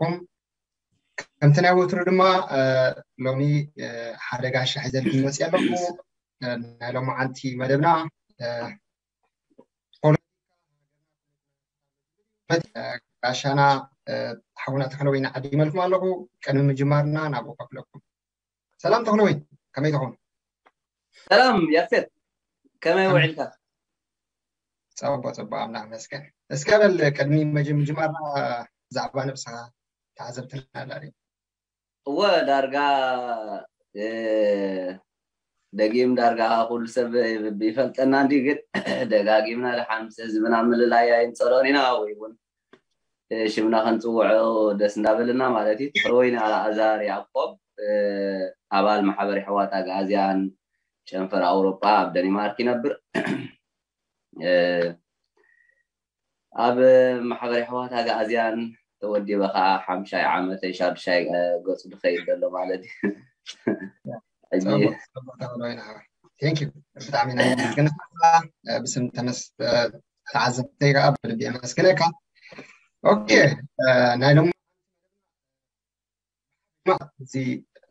ኣለኩም። ከምቲ ናይ ወትሩ ድማ ሎሚ ሓደ ጋሻ ሒዘልኩም መፅእ ኣለኹ። ናይ ሎማዓንቲ መደብና ጋሻና ሓውና ተኽለወይኒ ዓዲመልኩም ኣለኹ። ቅድሚ ምጅማርና ናብኡ ከፍለኩም። ሰላም ተኽለወይኒ፣ ከመይ ትኾን? ሰላም ያፌት፣ ከመይ ውዒልካ? ፀቦ ፀቦ፣ ኣምላኽ መስገን። እስከ በል ቅድሚ ምጅማርና ብዛዕባ ነብስኻ ተዓዘብትና ላሪ። እወ ዳርጋ ደጊም ዳርጋ ኩሉ ሰብ ይፈልጠና እንዲ፣ ግን ደጋጊምና ደሓን ምስ ህዝብና ምልላይ ኣይንፀልኦን ኢና፣ ወይ እውን ሽምና ከንፅውዖ ደስ እንዳበለና ማለት እዩ። ተኽለወይኒ ኣልኣዛር ያዕቆብ፣ ኣባል ማሕበር የሕዋት ኣግኣዝያን ጨንፈር ኣውሮጳ ኣብ ደኒማርክ ይነብር። ኣብ ማሕበር የሕዋት ኣግኣዝያን ተወዲበ ከዓ ሓምሻይ ዓመተይ ሻዱሻይ ገፁ ድኸይድ ዘሎ ማለት እዩ። ብጣዕሚ ኢና ነመስግነካ ብስም ተዓዘብተይ ከዓ ብልቢ የመስግነካ። ኦኬ፣ ናይ ሎም እዚ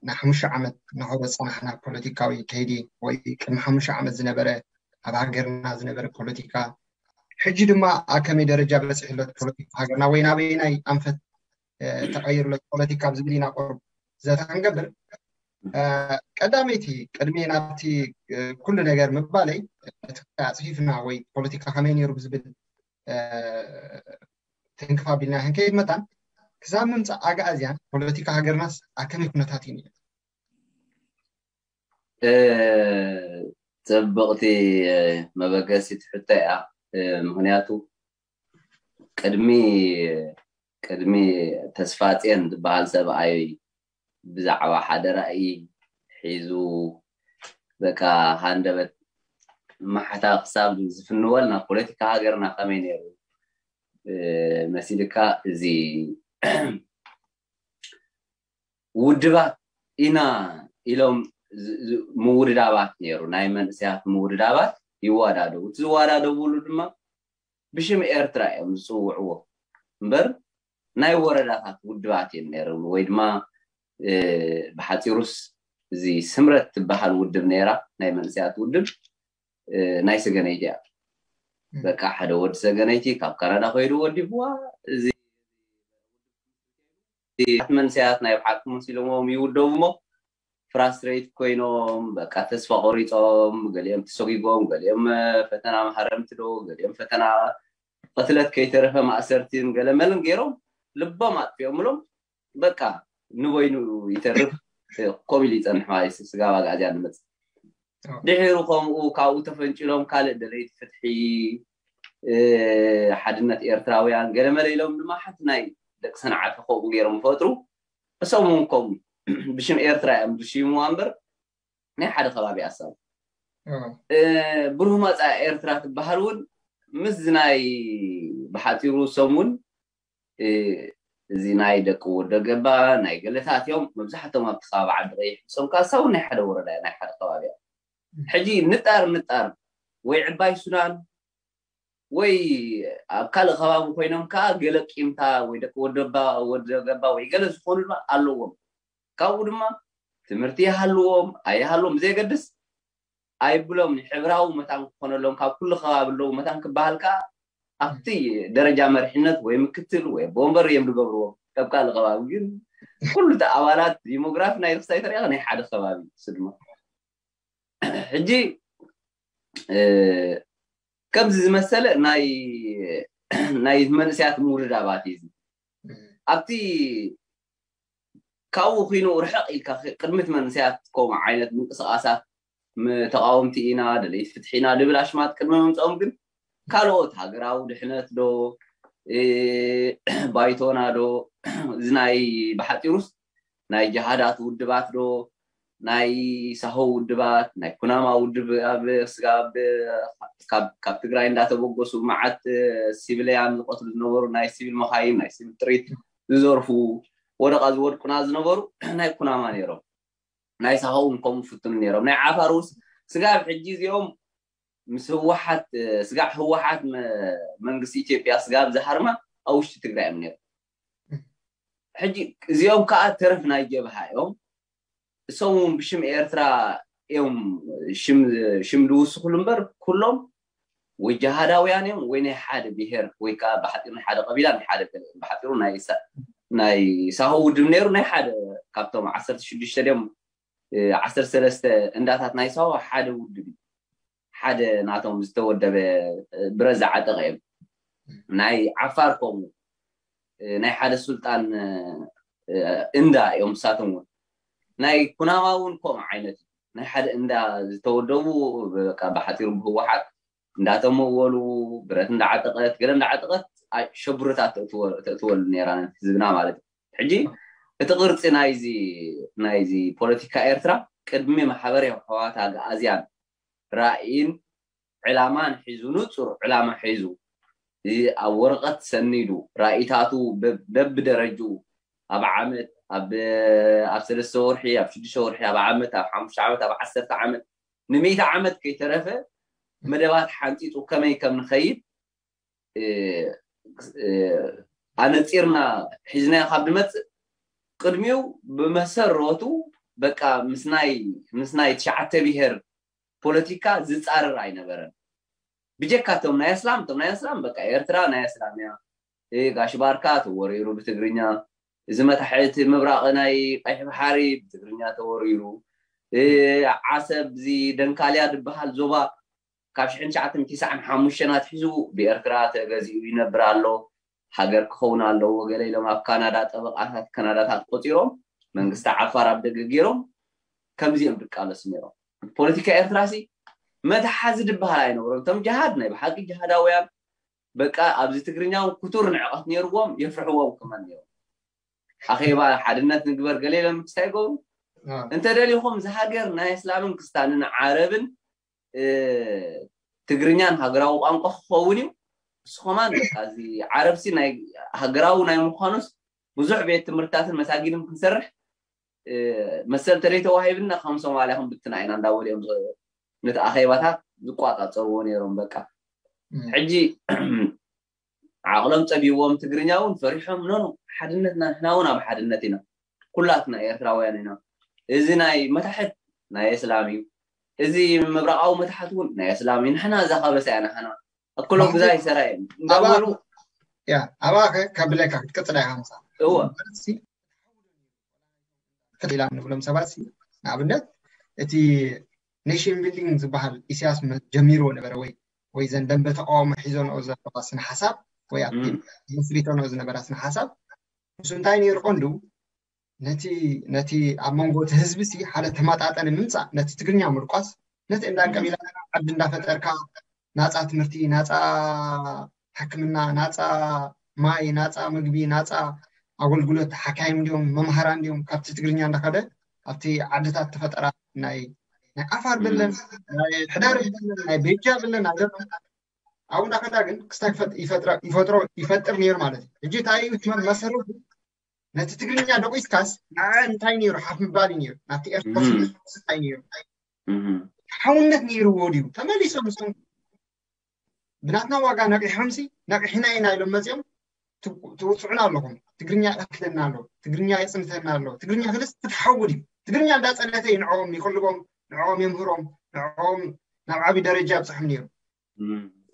ናይ ሓሙሽተ ዓመት ናሆ ዝፀናሕና ፖለቲካዊ ከይዲ ወይ ቅድሚ ሓሙሽተ ዓመት ዝነበረ ኣብ ሃገርና ዝነበረ ፖለቲካ፣ ሕጂ ድማ ኣብ ከመይ ደረጃ በፂሑ ኣሎ ፖለቲካ ሃገርና ወይ ናበይናይ ኣንፈት ተቐይሩ ኣሎ ፖለቲካ ኣብ ዝብል ኢና ቁሩብ ዘተ ክንገብር። ቀዳመይቲ ቅድሚ ናብቲ ኩሉ ነገር ምባለይ፣ እቲ ኣፅፊፍና ወይ ፖለቲካ ከመይ ነይሩ ብዝብል ትንክፍ ኣቢልና ክንከይድ መታን፣ ክሳብ ምምፃእ ኣግኣዝያን ፖለቲካ ሃገርናስ ኣብ ከመይ ኩነታት እዩ ነይሩ? ፅብቕቲ መበገሲት ሕቶ እያ። ምክንያቱ ቅድሚ ቅድሚ ተስፋፅዮን ዝበሃል ሰብኣይ ብዛዕባ ሓደ ራእይ ሒዙ በቃ ሃንደበት ማሕታ ክሳብ ዝፍንወልና ፖለቲካ ሃገርና ከመይ ነይሩ መሲልካ? እዚ ውድባት ኢና ኢሎም ምውድዳባት ነይሩ፣ ናይ መንእሰያት ምውድዳባት ይወዳደቡ። እቲ ዝወዳደብሉ ድማ ብሽም ኤርትራ እዮም ዝፅውዕዎ እምበር ናይ ወረዳታት ውድባት እዮም ነይሮም። ወይ ድማ ብሓፂሩስ እዚ ስምረት ትበሃል ውድብ ነይራ፣ ናይ መንእሰያት ውድብ ናይ ሰገነይቲ እያ። በቃ ሓደ ወዲ ሰገነይቲ ካብ ካናዳ ከይዱ ወዲብዋ። እዚ መንእሰያት ናይ ብሓቂ መሲሎሞም ይውደቡ እሞ ፍራስትሬት ኮይኖም በቃ ተስፋ ቆሪፆም፣ ገሊኦም ተሰጊጎም፣ ገሊኦም ፈተና መሃረምቲ ዶ፣ ገሊኦም ፈተና ቅትለት ከይተረፈ ማእሰርቲን ገለመልን ገይሮም ልቦም ኣጥፊኦምሎም በቃ ንበይኑ ይተርፍ። ከምኡ ኢሉ ይፀንሕ ማለት እዩ። ስጋብ ኣግኣዝያን ንመፅእ ድሒሩ ከምኡ ካብኡ ተፈንጭሎም ካልእ ደለይቲ ፍትሒ ሓድነት ኤርትራውያን ገለመለ ኢሎም ድማ ሓንቲ ናይ ደቂ ሰንዓፈ ከምኡ ገይሮም ይፈጥሩ። እሶም እውን ከምኡ ብሽም ኤርትራ እዮም ዝሽይምዋ እምበር ናይ ሓደ ከባቢ ኣሳብ ብሩህ መፃኢ ኤርትራ ትበሃል እውን ምስ ናይ ብሓፂሩ እሶም እውን እዚ ናይ ደቂ ወደ ገባ ናይ ገለታት እዮም መብዛሕቶም ኣብቲ ከባቢ ዓዲ ቀይሕ እሶም ካሳ እውን ናይ ሓደ ወረዳ ናይ ሓደ ከባቢ እዮም። ሕጂ ንጣር ንጣር ወይ ዕባይ ሱዳን ወይ ኣብ ካልእ ከባቢ ኮይኖም ከዓ ገለ ቂምታ ወይ ደቂ ወደባ ወደ ገባ ወይ ገለ ዝኾኑ ድማ ኣለዎም። ካብኡ ድማ ትምህርቲ ይሃልዎም ኣይሃልዎም ብዘየገድስ ኣይብሎም ንሕብራዊ መታን ክኾነሎም ካብ ኩሉ ከባቢ ኣለዉ መታን ክበሃል ከዓ ኣብቲ ደረጃ መሪሕነት ወይ ምክትል ወይ ቦምበር እዮም ዝገብርዎም። ካብ ካልእ ከባቢ ግን ኩሉ እቲ ኣባላት ዲሞግራፊ ናይ ርክሳይ ተሪኣ ናይ ሓደ ከባቢ እሱ ድማ ሕጂ ከምዚ ዝመሰለ ናይ ናይ መንእሰያት ምውርዳባት እዩ። ኣብቲ ካብኡ ኪኑ ርሕቕ ኢልካ ቅድሚት መንእሰያት ከምኡ ዓይነት ምንቅስቃሳት ተቃወምቲ ኢና ደለይቲ ፍትሒ ኢና ድብል ኣሽማት ቅድሚ ምምፅኦም ግን ካልኦት ሃገራዊ ድሕነት ዶ ባይቶና ዶ እዚ ናይ ብሓፂሩስ ናይ ጀሃዳት ውድባት ዶ ናይ ሳሆ ውድባት ናይ ኩናማ ውድብ ኣብ ስጋብ ካብ ትግራይ እንዳተበገሱ መዓት ሲቪልያን ዝቀትሉ ዝነበሩ ናይ ሲቪል መካይን ናይ ሲቪል ጥሪት ዝዘርፉ ወደቃ ዝወድቁና ዝነበሩ ናይ ኩናማ ነይሮም። ናይ ሳሆ እውን ከምኡ ፍትኑ ነይሮም። ናይ ዓፋር ውስ ስጋብ ሕጂ እዚኦም ምስ ህወሓት ስጋዕ ህወሓት መንግስቲ ኢትዮጵያ ስጋብ ዝሃርማ ኣብ ውሽጢ ትግራይ እዮም ነይሮም። ሕጂ እዚኦም ከዓ ተረፍ ናይ ጀብሃ እዮም። እሶም እውን ብሽም ኤርትራ እዮም ሽም ሽም ዝውስኹሉ እምበር፣ ኩሎም ወይ ጀሃዳውያን እዮም ወይ ናይ ሓደ ብሄር ወይ ከዓ ብሓፂሩ ናይ ሓደ ቀቢላ፣ ናይ ሓደ ገለ እዮም። ብሓፂሩ ናይ ሳ- ናይ ሳሆ ውድብ ነይሩ፣ ናይ ሓደ ካብቶም ዓሰርተ ሽዱሽተ ድዮም ዓሰርተ ሰለስተ እንዳታት ናይ ሳዋ ሓደ ውድብ እዩ። ሓደ ናቶም ዝተወደበ ብረት ዝዓጠቐ እዮም። ናይ ዓፋር ከምኡ ናይ ሓደ ሱልጣን እንዳ እዮም። ንሳቶም እውን ናይ ኩናማ እውን ከምኡ ዓይነት እዩ። ናይ ሓደ እንዳ ዝተወደቡ ብሓፂሩ ብህወሓት እንዳተመወሉ ብረት እንዳዓጠቐት ገለ እንዳዓጠቐት ሸብርታት ተእትወሉ ነራ ህዝብና ማለት እዩ። ሕጂ እቲ ቅርፂ ናይዚ ናይዚ ፖለቲካ ኤርትራ ቅድሚ ማሕበር ህወሓት ኣግኣዝያን ራእይን ዕላማን ሒዙ፣ ንፁር ዕላማ ሒዙ፣ ኣብ ወረቐት ሰኒዱ፣ ራእይታቱ በብደረጁ ኣብ ዓመት ኣብ ኣብ ሰለስተ ወርሒ ኣብ ሽዱሽተ ወርሒ ኣብ ዓመት ኣብ ሓሙሽተ ዓመት ኣብ ዓሰርተ ዓመት ንሚእቲ ዓመት ከይተረፈ መደባት ሓንፂፁ ከመይ ከም ንኸይድ ኣነፂርና ሒዝናዮ ካብ ንመፅእ ቅድሚኡ ብመሰረቱ በቃ ምስናይ ምስናይ ትሽዓተ ብሄር ፖለቲካ ዝፃረር ኣይነበረን። ብጀካ እቶም ናይ ኣስላም እቶም ናይ ኣስላም በቃ ኤርትራ ናይ ኣስላም እያ። ጋሽ ባርካ ተወሪሩ ብትግርኛ፣ እዚ መታሕቲ ምብራቕ ናይ ቀይሕ ባሕሪ ብትግርኛ ተወሪሩ፣ ዓሰብ እዚ ደንካልያ ዝበሃል ዞባ ካብ ሽሕን ትሽዓተ ሚእትን ተስዓን ሓሙሽተን ኣትሒዙ ብኤርትራ ተገዚኡ ይነብር ኣሎ፣ ሃገር ክኸውን ኣለዎ ገለ ኢሎም ኣብ ካናዳ ጠበቓታት ካናዳታት ቆፂሮም መንግስቲ ዓፋር ኣብ ደገ ገይሮም ከምዚ እዮም ድቃለሱ ነይሮም። ፖለቲካ ኤርትራ ሲ መትሓዚ ዝበሃል ኣይነበሮም። እቶም ጅሃድ ናይ ብሓቂ ጅሃዳውያን በቃ ኣብዚ ትግርኛ እውን ክቱር ንዕቐት ነይርዎም፣ የፍርሕዎም ክመን ነይሮም። ኣኼባ ሓድነት ንግበር ገለ ኢሎም ክስታይ ይገብሩ። እንተደሊኹም እዚ ሃገር ናይ እስላምን ክስታንን ዓረብን ትግርኛን ሃገራዊ ቋንቋ ክኸውን እዩ። ንስኹማን በቃ እዚ ዓረብሲ ናይ ሃገራዊ ናይ ምዃኑስ ብዙሕ ቤት ትምህርትታትን መሳጊድን ክንሰርሕ መሰል ተለይ ተዋሂብና ከም ሶማልያ ክንብትና ኢና እንዳበሉ እዮም ነቲ ኣኼባታት ዝቋጻጸርዎ ነይሮም። በቃ ሕጂ ዓቕሎም ጸቢዎም ትግርኛ እውን ፈሪሖም ኖኖ ሓድነትና ንሕና እውን ኣብ ሓድነት ኢና፣ ኩላትና ኤርትራውያን ኢና። እዚ ናይ መታሕት ናይ እስላም እዩ፣ እዚ ምብራቓዊ መታሕት እውን ናይ እስላም እዩ። ንሕና እዛ ካበሳ እያ ንሕና ኣክሎም ግዛ ይሰራ እዮም እንዳበሉ ያ ኣባኸ ካብ ብለካ ክትቅፅል ኢኻ ምሳ እወ ኢላ ንብሎም ሰባት ንኣብነት እቲ ኔሽን ቢልዲንግ ዝበሃል ኢሳያስ ጀሚርዎ ነበረ ወይ ወይ ዘን ደንበ ተቃውሞ ሒዞንኦ ዘለዋ ስነ ሓሳብ ወይ ኣብቲ መስሪቶንኦ ዝነበራ ስነ ሓሳብ ምስ እንታይ ነይሩ ቀንዱ ነቲ ነቲ ኣብ መንጎ እቲ ህዝቢ ሲ ሓደ ተመጣጠኒ ምምፃእ ነቲ ትግርኛ ምርቋስ ነቲ እንዳ ቀቢላ ዓዲ እንዳፈጠርካ ናፃ ትምህርቲ ናፃ ሕክምና ናፃ ማይ ናፃ ምግቢ ናፃ ኣገልግሎት ሓካይም እንዲዮም መምሃራ እንዲዮም ካብቲ ትግርኛ እንዳኸደ ኣብቲ ዓድታት ተፈጠራ ናይ ናይ ዓፋር ብለን ናይ ሕዳር ብለን ናይ ቤጃ ብለን ናይ ኣብኡ እንዳኸዳ ግን ክስታይ ይፈጥሮ ይፈጥር ነይሩ ማለት እዩ። ሕጂ እንታይ እዩ መሰረቱ ነቲ ትግርኛ ደቂስካስ ንዓ እንታይ ነይሩ ሓፍ ምባል እዩ ነይሩ ናብቲ ኤርትራ እንታይ ነይሩ ሓውነት ነይርዎ ድዩ ተመሊሶም ምስም ብናትና ዋጋ ነቂሖምሲ ነቂሕና ኢና ኢሎም መፅኦም ትውፅዑና ኣለኹም ትግርኛ ይኣክለና ኣሎ ትግርኛ የፅንተና ኣሎ ትግርኛ ክልስ ክትሓውድ እዩ ትግርኛ እንዳፀነተ እዩ ንዕኦም ይቅልቦም ንዕኦም የምህሮም ንዕኦም ናብ ዓብዪ ደረጃ ኣብፅሖም ነይሩ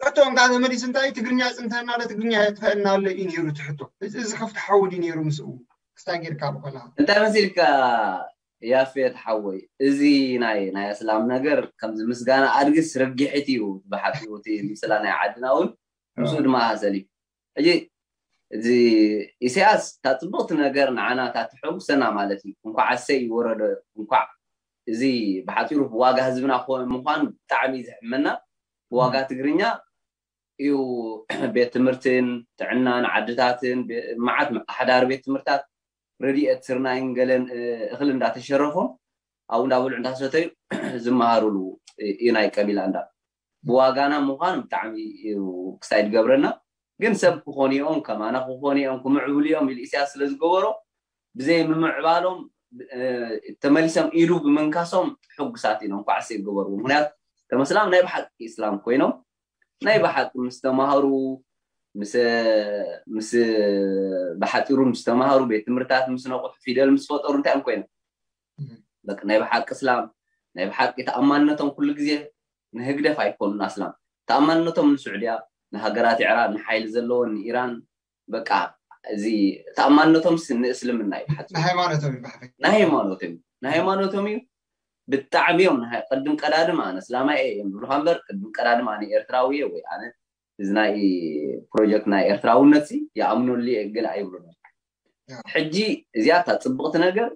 ሕቶ እንዳ ተመሊሱ እንታይ ትግርኛ የፅንተና ኣሎ ትግርኛ የጥፈአና ኣሎ እዩ ነይሩ እቲ ሕቶ እዚ ከፍቲ ሓውድ እዩ ነይሩ ምስኡ ክስታይ ጌርካ ብኸላ እንታይ መሲልካ ያፌት ሓወይ እዚ ናይ ናይ እስላም ነገር ከምዚ ምስጋና ኣድግስ ርግሒት እዩ ብሓቂ እቲ ምስላ ናይ ዓድና እውን ምስኡ ድማ ሃሰል እዩ ሕጂ እዚ ኢሳያስ እታ ፅብቕቲ ነገር ንዓና እታ ትሐጉሰና ማለት እዩ እንኳዕ ኣሰይ ይወረዶ እንኳዕ እዚ ብሓፂሩ ብዋጋ ህዝብና ምኳኑ ብጣዕሚ እዩ ዝሕመና ብዋጋ ትግርኛ እዩ ቤት ትምህርትን ጥዕናን ዓድታትን መዓት ኣሕዳሪ ቤት ትምህርታት ረድኤት ስርናይን ገለን እኽሊ እንዳተሸረፎም ኣብኡ እንዳበልዑ እንዳሰተዩ ዝመሃሩሉ እዩ ናይ ቀቢላ እንዳ ብዋጋና ምዃን ብጣዕሚ እዩ ክሳይ ዝገብረና ግን ሰብ ክኾኑ እዮም ከማና ክኾኑ እዮም ክምዕብሉ እዮም ኢሉ ኢሳያስ ስለ ዝገበሮ ብዘይ ምምዕባሎም ተመሊሶም ኢዱ ብምንካሶም ሕጉሳት ኢና እንኳዕ ሴ ገበርዎ ምክንያቱ ተመስላም ናይ ብሓቂ እስላም ኮይኖም ናይ ብሓቂ ምስ ተማሃሩ ምስ ምስ ብሓፂሩ ምስ ተማሃሩ፣ ቤት ትምህርታት ምስ ነቑሑ፣ ፊደል ምስ ፈጠሩ እንታይ እዮም ኮይኖም? በቃ ናይ ብሓቂ እስላም፣ ናይ ብሓቂ ተኣማንነቶም ኩሉ ግዜ ንህግደፍ ኣይኮኑን ኣስላም። ተኣማንነቶም ንስዑድያ፣ ንሃገራት ኢዕራብ፣ ንሓይሊ ዘለወን ንኢራን፣ በቃ እዚ ተኣማንነቶም ስ- ንእስልምና እዩ ብሓፂሩ። ንሃይማኖቶም እዩ ብሓፈሻ። ናይ ሃይማኖቶም እዩ፣ ናይ ሃይማኖቶም እዩ። ብጣዕሚ እዮም ናይ ቅድም ቀዳድም ኣነ እስላማይ እየ እዮም ዝብሉካ እምበር ቅድም ቀዳድም ኣነ ኤርትራዊ እየ ወይ ኣነ እዚ ናይ ፕሮጀክት ናይ ኤርትራውነት ሲ ይኣምነሉ እየ ገለ ኣይብሉን። ሕጂ እዚኣ እታ ፅብቕቲ ነገር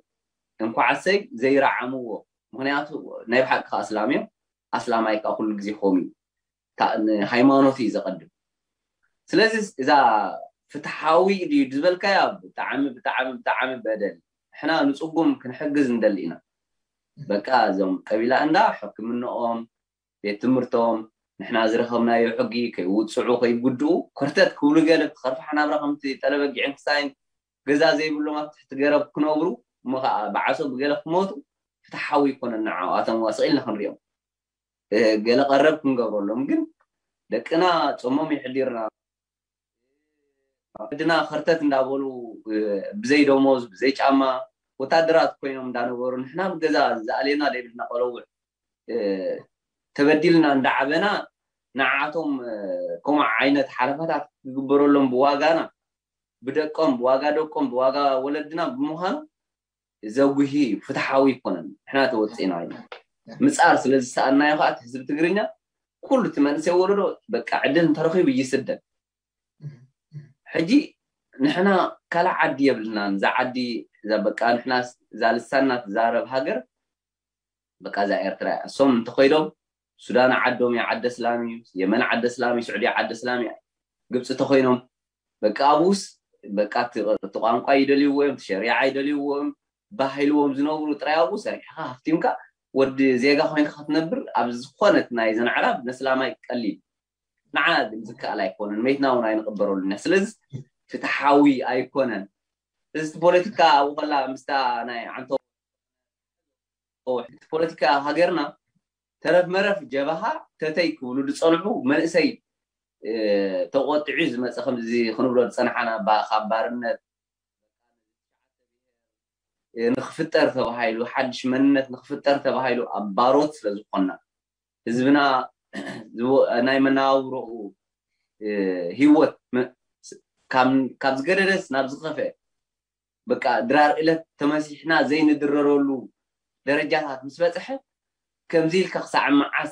እንኳዓሰይ ዘይረዓምዎ፣ ምክንያቱ ናይ ብሓቂ ከዓ ኣስላም እዮም። ኣስላማይ ከዓ ኩሉ ግዜ ከምኡ እዩ። ሃይማኖት እዩ ዘቐድም። ስለዚ እዛ ፍትሓዊ ድዩ ዝበልካያ ብጣዕሚ ብጣዕሚ ብጣዕሚ በደል። ንሕና ንፅጉም ክንሕግዝ ንደሊ ኢና። በቃ እዞም ቀቢላ እንዳ ሕክምንኦም፣ ቤት ትምህርቶም፣ ንሕና ዝረኸብናዮ ሕጊ ከይውፅዑ ከይጉድኡ ኮርተት ክብሉ ገለ ብኸርፋሕ ናብራ ከምቲ ጠለበጊዕን ክሳይን ገዛ ዘይብሎም ኣብ ትሕቲ ገረብ ክነብሩ እሞ ከዓ ብዓሶ ብገለ ክሞቱ ፍትሓዊ ይኮነን። ንዓኣቶም ዋስቕ ኢልና ክንሪኦም ገለ ቀረብ ክንገብረሎም ግን ደቅና ጾሞም ይሕዲርና ወለድና ከርተት እንዳበሉ ብዘይ ደሞዝ ብዘይ ጫማ ወታደራት ኮይኖም እንዳነበሩ ንሕና ብገዛ ዝኣሌና ዘይብልና ቆለውዕ ተበዲልና እንዳዓበና ንዓቶም ከምኡ ዓይነት ሓለፋታት ክግበረሎም ብዋጋና ብደቆም ብዋጋ ደቆም ብዋጋ ወለድና ብምዃኑ ዘጉሂ እዩ፣ ፍትሓዊ ኣይኮነን። ንሕና ተወፂእና ኢና ምፃር ስለ ዝሰኣናዮ ከዓ እቲ ህዝቢ ትግርኛ ኩሉ እቲ መንእሰይ ወለዶ በቃ ዕድል እንተረኺቡ ይስደድ። ሕጂ ንሕና ካልእ ዓዲ የብልናን። እዛ ዓዲ እዛ በቃ ንሕና እዛ ልሳንና ትዛረብ ሃገር በቃ እዛ ኤርትራ እያ። እሶም እንተኸይዶም ሱዳን ዓዶም እያ ዓደ እስላም እዩ፣ የመን ዓደ እስላም እዩ፣ ስዑድያ ዓደ እስላም እያ፣ ግብፂ ተኾይኖም በቃ ኣብኡስ በቃ እቲ ቋንቋ ይደልይዎ እዮም፣ እቲ ሸሪዓ ይደልይዎ እዮም፣ ባህልዎም ዝነብሩ ጥራይ ኣብኡ ሰሪሕኻ ሃፍቲምካ ወዲ ዜጋ ኮይንካ ክትነብር ኣብ ዝኾነት ናይ ዘን ኣዕራብ ነስላማይ ቀሊል ንዓና ግን ዝከኣል ኣይኮነን፣ መይትና እውን ኣይንቕበረሉን ኢና። ስለዚ ፍትሓዊ ኣይኮነን። እዚ ፖለቲካ ኣብኡ ከላ ምስታ ናይ ዓንቶ እቲ ፖለቲካ ሃገርና ተረፍ መረፍ ጀብሃ ተተይ ክብሉ ዝፀንሑ መንእሰይ ተቆጢዑ ዝመፀ ከምዚ ክንብሎ ዝፀናሓና ካብ ባርነት ንክፍጠር ተባሂሉ ሓድሽ መንነት ንክፍጠር ተባሂሉ ኣብ ባሮት ስለ ዝኾንና ህዝብና ናይ መነባብሮኡ ህይወት ካብ ዝገደደስ ናብ ዝኸፍአ በቃ ድራር እለት ተመሲሕና ዘይንድረረሉ ደረጃታት ምስ በፅሐ ከምዚ ኢልካ ክሳዕ መዓስ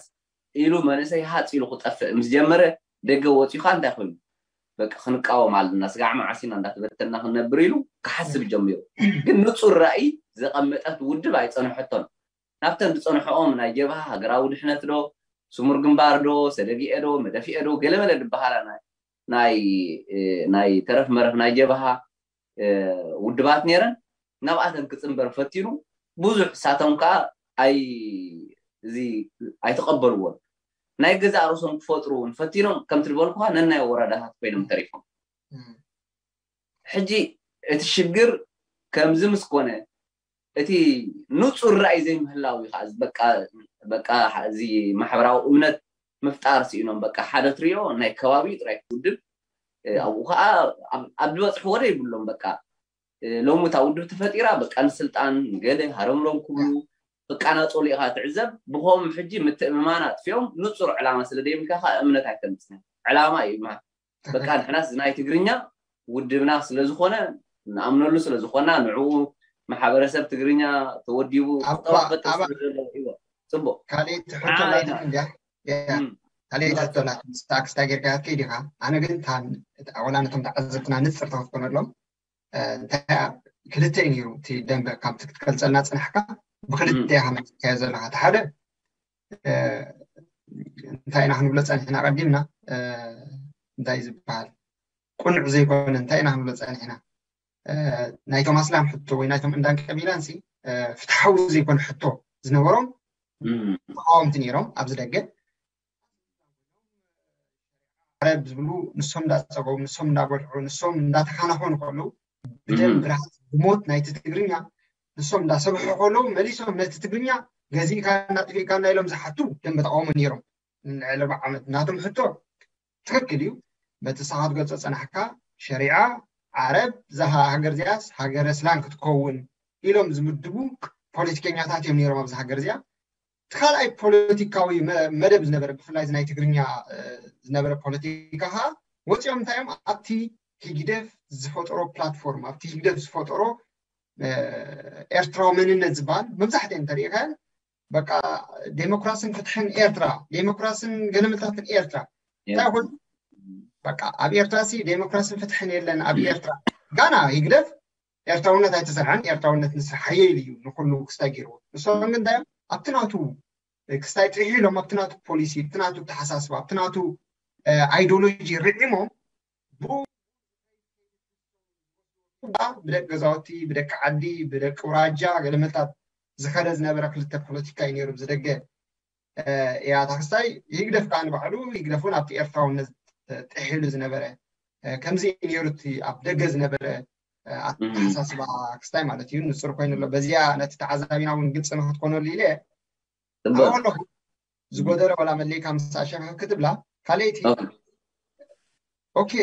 ኢሉ መንእሰይ ሃፅ ኢሉ ክጠፍእ ምስ ጀመረ ደገ ወፂኡ ከዓ እንታይ ኮይኑ በቃ ክንቃወም ኣለና ስጋዕ መዓስ ኢና እንዳተበተና ክንነብር ኢሉ ክሓስብ ጀሚሩ። ግን ንፁር ራእይ ዘቐመጠት ውድብ ኣይፀንሐቶን። ናብተን ዝፀንሐኦም ናይ ጀብሃ ሃገራዊ ድሕነት ዶ ስሙር ግንባር ዶ ሰደግኤ ዶ መደፍኤ ዶ ገለመለ ዝበሃላ ናይ ናይ ተረፍ መረፍ ናይ ጀብሃ ውድባት ነይረን ናብኣተን ክፅንበር ፈቲኑ ብዙሕ ሳቶም ከዓ ኣይ እዚ ኣይተቐበልዎን ናይ ገዛእ ርእሶም ክፈጥሩ እውን ፈቲኖም ከምቲ ዝበልኩካ ነናይ ወረዳታት ኮይኖም ተሪፎም። ሕጂ እቲ ሽግር ከምዚ ምስ ኮነ እቲ ንፁር ራእይ ዘይምህላው እዩ ከዓ በቃ እዚ ማሕበራዊ እምነት ምፍጣር ስኢኖም በቃ ሓደ ትሪኦ ናይ ከባቢ ጥራይ ውድብ ኣብኡ ከዓ ኣብ ዝበፅሕዎ ዶ ይብሎም በቃ ሎሚ እታ ውድብ ተፈጢራ በቃ ንስልጣን ገለ ሃረምሮም ክብሉ በቃ ናፀሉ ኢካ ትዕዘብ። ብከምኡ ሕጂ ምትእምማን ኣጥፊኦም ንፁር ዕላማ ስለ ደይብልካ ከዓ እምነት ኣይተምፅን። ዕላማ እዩ ይበሃል። በቃ ንሕናስ ናይ ትግርኛ ውድብና ስለዝኾነ ንኣምነሉ ስለዝኾና ንዕኡ ማሕበረሰብ ትግርኛ ተወዲቡ ክጠዋፈጥ ስለዘለዎ ይዎ ፅቡቅ። ካልእ ትሕቶ ናትና እንድያ። ካልእ ትሕቶ ናትና ስታክስታ ጌርካ ከይድ ኢኻ። ኣነ ግን ወላ ነቶም ተዓዘብትና ንፅር ተክትኮነሎም እንታይ ክልተ እዩ ነይሩ እቲ ደንበ ካብቲ ክትገልፀልና ፅናሕካ ብክልተ ኢኻ መፅካዮ ዘለካ። እቲ ሓደ እንታይ ኢና ክንብሎ ፀኒሕና ቀዲምና እንታይ ዝበሃል ቁኑዕ ዘይኮነ እንታይ ኢና ክንብሎ ፀኒሕና ናይቶም ኣስላም ሕቶ ወይ ናይቶም እንዳን ቀቢላን ሲ ፍትሓዊ ዘይኮነ ሕቶ ዝነበሮም ተቃወምቲ ነይሮም ኣብዚ ደገ ዓረብ ዝብሉ ንሶም እንዳፀገቡ ንሶም እንዳበልዑ ንሶም እንዳተኻናኸኑ ከለዉ ብደም ብርሃን ብሞት ናይቲ ትግርኛ ንሶም እንዳሰብሑ ከለዉ መሊሶም ነቲ ትግርኛ ገዚእካና ጥፊእካና ኢሎም ዝሓቱ ደንበ ተቃውሞ ነይሮም። ንልዕሊ ኣርብዓ ዓመት ናቶም ሕቶ ትክክል እዩ። በቲ ንስኻ ትገልጾ ዝጸናሕካ ሸሪዓ ዓረብ እዛ ሃ- ሃገር እዚኣስ ሃገረ እስላም ክትከውን ኢሎም ዝምድቡ ፖለቲከኛታት እዮም ነይሮም ኣብዚ ሃገር እዚኣ። እቲ ካልኣይ ፖለቲካዊ መ- መደብ ዝነበረ ብፍላይ እዚ ናይ ትግርኛ እ፣ ዝነበረ ፖለቲካ ከዓ ወፂኦም እንታይ እዮም ኣብቲ ህግደፍ ዝፈጠሮ ፕላትፎርም ኣብቲ ህግደፍ ዝፈጠሮ እ፣ ኤርትራዊ መንነት ዝበሃል መብዛሕትኦም እንተሪኢኻዮ በቃ ዴሞክራስን ፍትሕን ኤርትራ ዴሞክራስን ገለመታትን ኤርትራ እንታይ ኮይኑ በቃ ኣብ ኤርትራ ሲ ዴሞክራስን ፍትሕን የለን ኣብ ኤርትራ ጋና ህግደፍ ኤርትራውነት ኣይተሰርሐን ኤርትራውነት ንስራሕ ሓየል እዩ ንኩሉ ክስታይ ገይርዎ ንሶም ግን እንታይ ኣብቲ ናቱ ክስታይ ጥሒሎም ኣብቲ ናቱ ፖሊሲ ኣብቲ ናቱ ተሓሳስባ ኣብቲ ናቱ ኣይዲዮሎጂ ርዒሞም ብኡ ብደቂ ገዛውቲ ብደቂ ዓዲ ብደቂ ውራጃ ገለመታት ዝኸደ ዝነበረ ክልተ ፖለቲካ እዩ ነይሩ ብዝደገ እያ ታክስታይ ይግደፍ ከዓ ንባዕሉ ይግደፍ እውን ኣብቲ ኤርትራውነት ጥሒሉ ዝነበረ ከምዚ ነይሩ እቲ ኣብ ደገ ዝነበረ ኣተሓሳስባ ክስታይ ማለት እዩ ንፅር ኮይኑ ኣሎ በዚኣ ነቲ ተዓዛቢና እውን ግልፂ ንክትኮነሉ ኢለ ኣለኹ ዝጎደለ ወላ መለይካ ምስ ኣሸፈ ክትብላ ካልኣይቲ ኦኬ